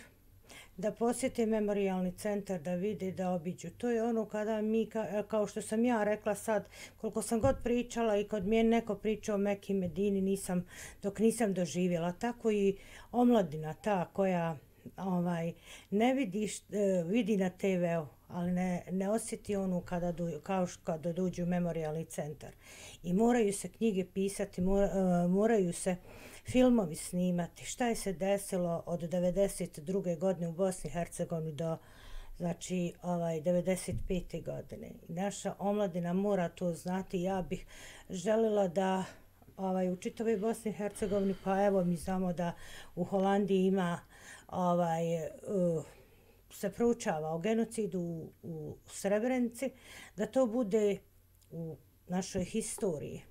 C: da posjete memorijalni centar, da vide, da obiđu. To je ono kada mi, kao što sam ja rekla sad, koliko sam god pričala i kod mene neko pričao o Meki Medini, nisam, dok nisam doživjela. Tako i omladina ta koja ovaj ne vidi, vidi na te veu, ali ne, ne osjeti onu kada du, kao kada dođu u memorijalni centar. I moraju se knjige pisati, mora, moraju se filmovi snimati. Šta je se desilo od devedeset druge godine u Bosni i Hercegovini do znači ovaj devedeset pete godine. I naša omladina mora to znati. Ja bih željela da ovaj u čitavoj Bosni i Hercegovini, pa evo mi znamo da u Holandiji ima ovaj uh, se proučava o genocidu u, u Srebrenici, da to bude u našoj historiji.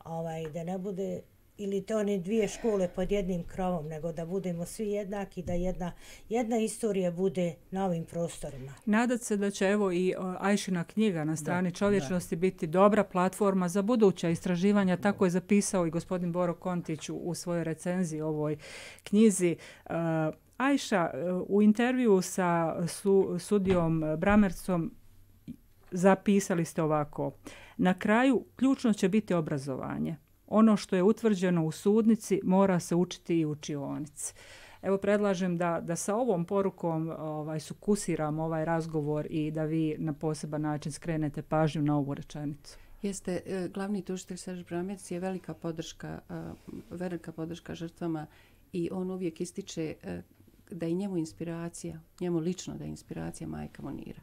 C: Ovaj, da ne bude ili to one dvije škole pod jednim krovom, nego da budemo svi jednaki, da jedna, jedna istorija bude na ovim prostorima.
A: Nadat se da će evo i Ajšina knjiga na strani
B: da,
A: čovječnosti da. biti dobra platforma za buduća istraživanja. Tako je zapisao i gospodin Boro Kontić u, u svojoj recenziji ovoj knjizi. Uh, Ajša, u intervju sa su, sudijom Bramercom zapisali ste ovako. Na kraju ključno će biti obrazovanje. Ono što je utvrđeno u sudnici mora se učiti i u učionici. Evo predlažem da, da sa ovom porukom ovaj, sukusiramo ovaj razgovor i da vi na poseban način skrenete pažnju na ovu rečenicu.
D: Jeste, glavni tužitelj Serž Bramerc je velika podrška, velika podrška žrtvama i on uvijek ističe da je njemu inspiracija, njemu lično da je inspiracija majka Monira.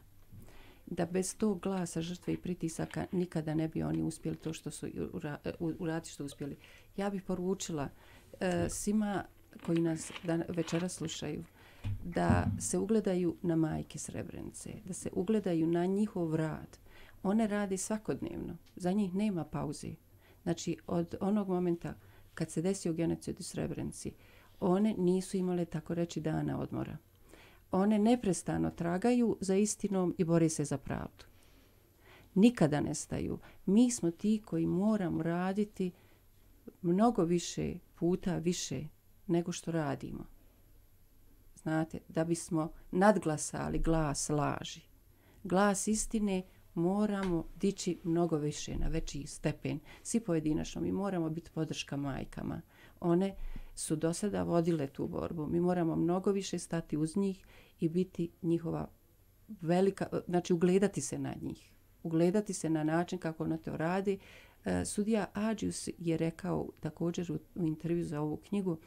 D: Da bez tog glasa žrtve i pritisaka nikada ne bi oni uspjeli to što su uraditi što uspjeli. Ja bih poručila e, svima koji nas dan, večera slušaju da se ugledaju na majke Srebrenice, da se ugledaju na njihov rad. One rade svakodnevno, za njih nema pauze. Znači od onog momenta kad se desio genocid u Srebrenici, one nisu imale tako reći dana odmora. One neprestano tragaju za istinom i bore se za pravdu. Nikada ne staju. Mi smo ti koji moramo raditi mnogo više puta više nego što radimo. Znate, da bismo nadglasali glas laži. Glas istine moramo dići mnogo više na veći stepen. Svi pojedinačno mi moramo biti podrška majkama. One su do sada vodile tu borbu. Mi moramo mnogo više stati uz njih i biti njihova velika, znači ugledati se na njih. Ugledati se na način kako ono to radi. E, sudija Adžius je rekao također u, u intervju za ovu knjigu,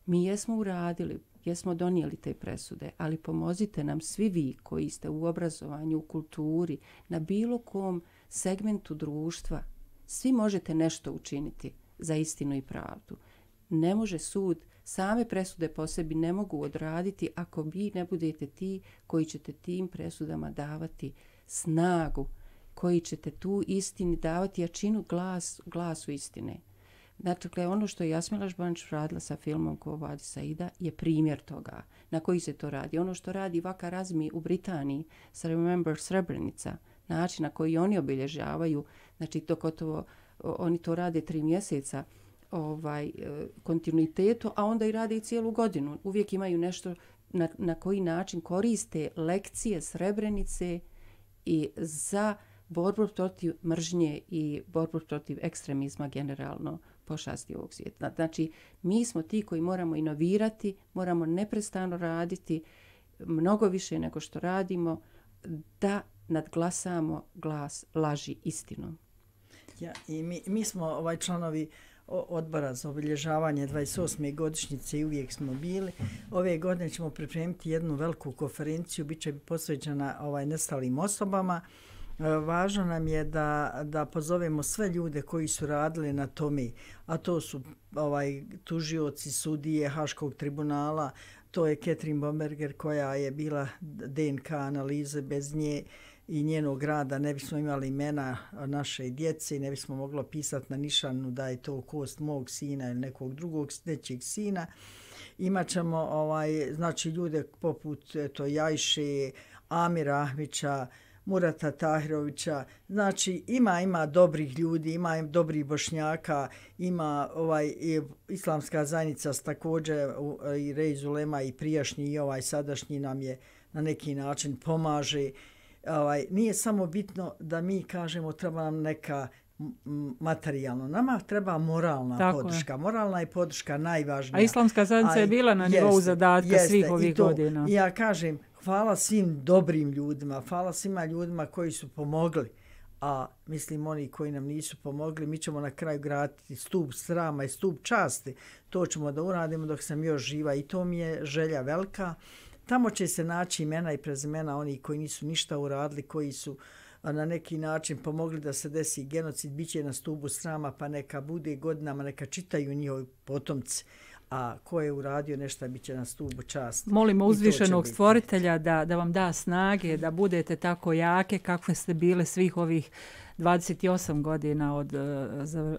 D: mi jesmo uradili, jesmo donijeli te presude, ali pomozite nam svi vi koji ste u obrazovanju, u kulturi, na bilo kom segmentu društva. Svi možete nešto učiniti za istinu i pravdu. Ne može sud, same presude po sebi ne mogu odraditi ako vi ne budete ti koji ćete tim presudama davati snagu, koji ćete tu istini davati jačinu glas, glasu istine. Dakle, ono što je Jasmila Žbanić radila sa filmom Ko vadi Saida je primjer toga na koji se to radi. Ono što radi Vaka Razmi u Britaniji sa Remember Srebrenica, način na koji oni obilježavaju, znači to gotovo, oni to rade tri mjeseca, ovaj kontinuitetu, a onda i rade i cijelu godinu. Uvijek imaju nešto na, na koji način koriste lekcije Srebrenice i za borbu protiv mržnje i borbu protiv ekstremizma generalno pošasti ovog svijeta. Znači, mi smo ti koji moramo inovirati, moramo neprestano raditi mnogo više nego što radimo da nadglasamo glas laži istinom.
B: Ja, i mi, mi smo ovaj članovi odbora za obilježavanje dvadeset osme godišnjice i uvijek smo bili. Ove godine ćemo pripremiti jednu veliku konferenciju, bit će posvećena ovaj nestalim osobama. Važno nam je da, da pozovemo sve ljude koji su radili na tome, a to su ovaj tužioci, sudije Haškog tribunala, to je Catherine Bomberger koja je bila D N K analize, bez nje i njenog rada ne bismo imali imena naše djece i ne bismo moglo pisati na nišanu da je to kost mog sina ili nekog drugog nečijeg sina. Imaćemo ovaj, znači, ljude poput eto, Jajše, Amira Ahmića, Murata Tahirovića, znači ima ima dobrih ljudi, ima dobrih Bošnjaka, ima ovaj i islamska zajednica također i Rej Zulema i prijašnji i ovaj sadašnji nam je na neki način pomaže. Ovaj, nije samo bitno da mi kažemo treba nam neka materijalno. Nama treba moralna
A: Tako
B: podrška.
A: Je.
B: Moralna je podrška najvažnija.
A: A islamska zajednica je bila na nivou jeste, zadatka jeste, svih ovih
B: to,
A: godina.
B: Ja kažem, hvala svim dobrim ljudima, hvala svima ljudima koji su pomogli, a mislim oni koji nam nisu pomogli, mi ćemo na kraju graditi stup srama i stup časti. To ćemo da uradimo dok sam još živa i to mi je želja velika. Tamo će se naći imena i prezimena oni koji nisu ništa uradili, koji su na neki način pomogli da se desi genocid, bit će na stubu srama, pa neka bude godinama, neka čitaju njihovi potomci. A ko je uradio nešto, bit će na stubu časti.
A: Molimo uzvišenog stvoritelja da, da vam da snage, da budete tako jake kakve ste bile svih ovih dvadeset osam godina od,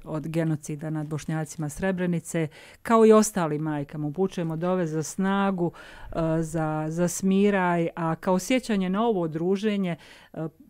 A: od genocida nad Bošnjacima Srebrenice, kao i ostalim majkama. Upućujemo dove za snagu, za, za smiraj, a kao sjećanje na ovo druženje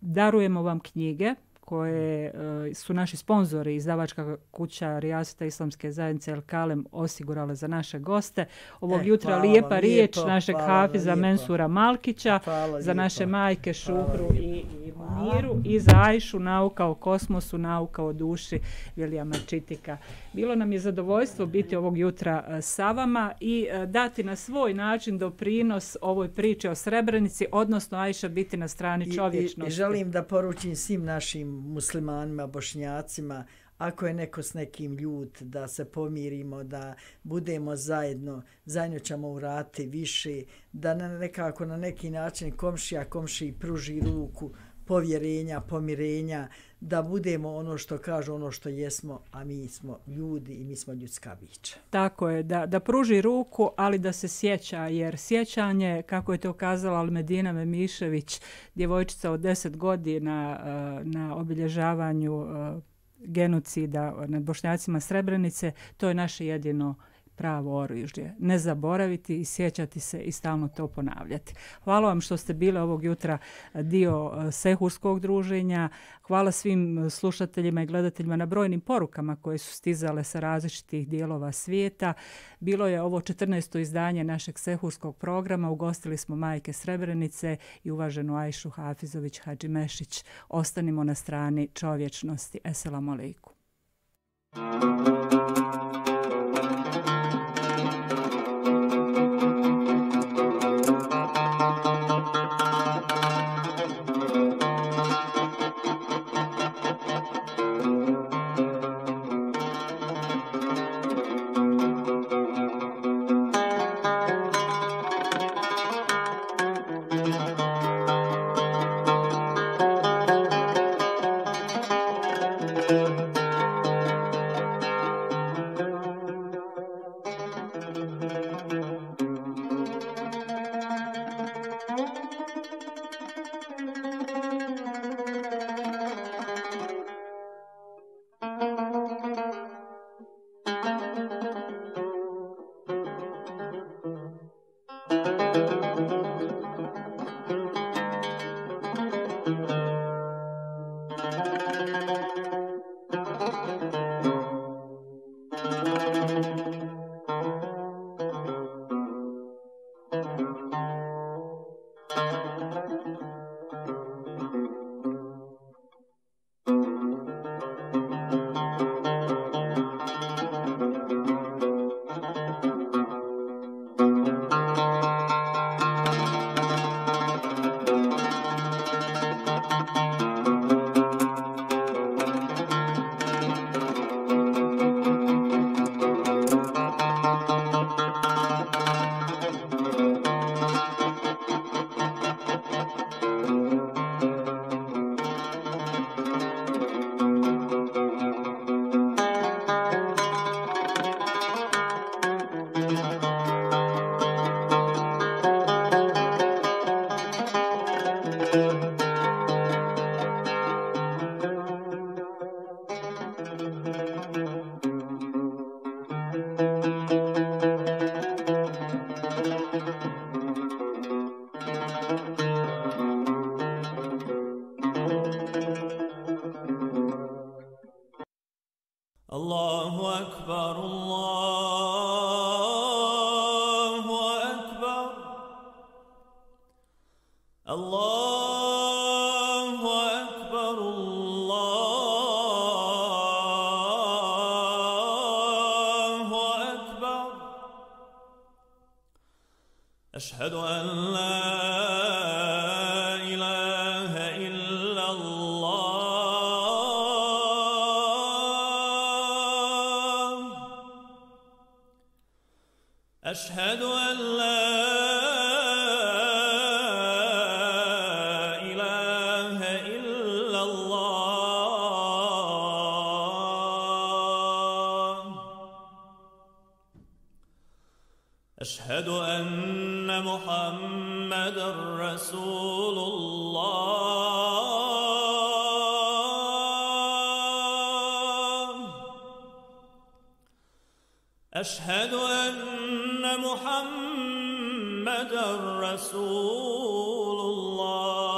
A: darujemo vam knjige koje uh, su naši sponzori, izdavačka kuća Rijaseta Islamske zajednice El Kalem osigurale za naše goste. Ovog e, jutra hvala, lijepa lijepo, riječ našeg hafiza lijepo. Mensura Malkića, hvala, za lijepo. Naše majke Šukru i, i Miru i za Ajšu nauka o kosmosu, nauka o duši Vilijama Čitika. Bilo nam je zadovoljstvo biti ovog jutra uh, sa vama i uh, dati na svoj način doprinos ovoj priči o Srebrenici, odnosno Ajša biti na strani čovječnosti.
B: I, i, i želim da poručim svim našim muslimanima, bošnjacima, ako je neko s nekim ljut, da se pomirimo, da budemo zajedno, zajedno ćemo urati više, da na nekako na neki način komšija komšiji pruži ruku, povjerenja, pomirenja, da budemo ono što kažu, ono što jesmo, a mi smo ljudi i mi smo ljudska bića.
A: Tako je, da, da pruži ruku, ali da se sjeća, jer sjećanje, kako je to kazala Almedina Memišević, djevojčica od deset godina na obilježavanju genocida nad Bošnjacima Srebrenice, to je naše jedino pravo oružje. Ne zaboraviti i sjećati se i stalno to ponavljati. Hvala vam što ste bili ovog jutra dio sehurskog druženja. Hvala svim slušateljima i gledateljima na brojnim porukama koje su stizale sa različitih dijelova svijeta. Bilo je ovo četrnaesto izdanje našeg sehurskog programa. Ugostili smo majke Srebrenice i uvaženu Ajšu Hafizović Hadžimešić. Ostanimo na strani čovječnosti. Eselamu alejkum.
E: أشهد أن لا إله إلا الله أشهد أن لا أشهد أن محمد رسول الله أشهد أن محمد رسول الله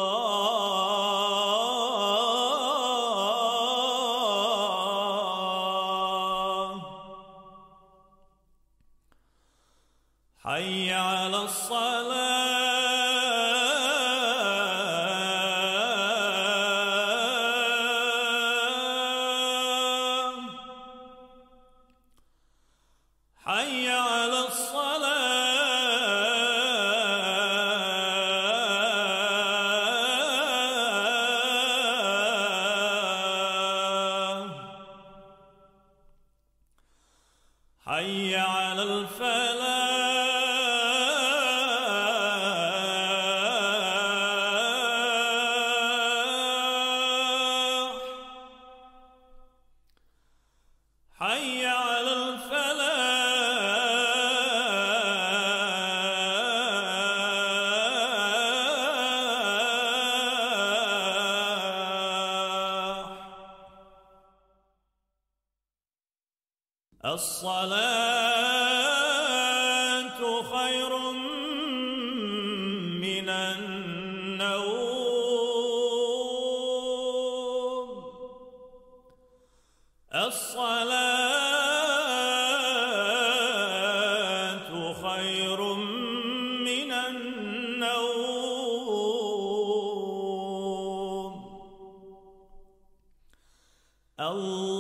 E: حي على الصلاة حي على الصلاة حي على الفلاح حي على الفلاح الصلاة خير من النوم الصلاة خير من النوم الله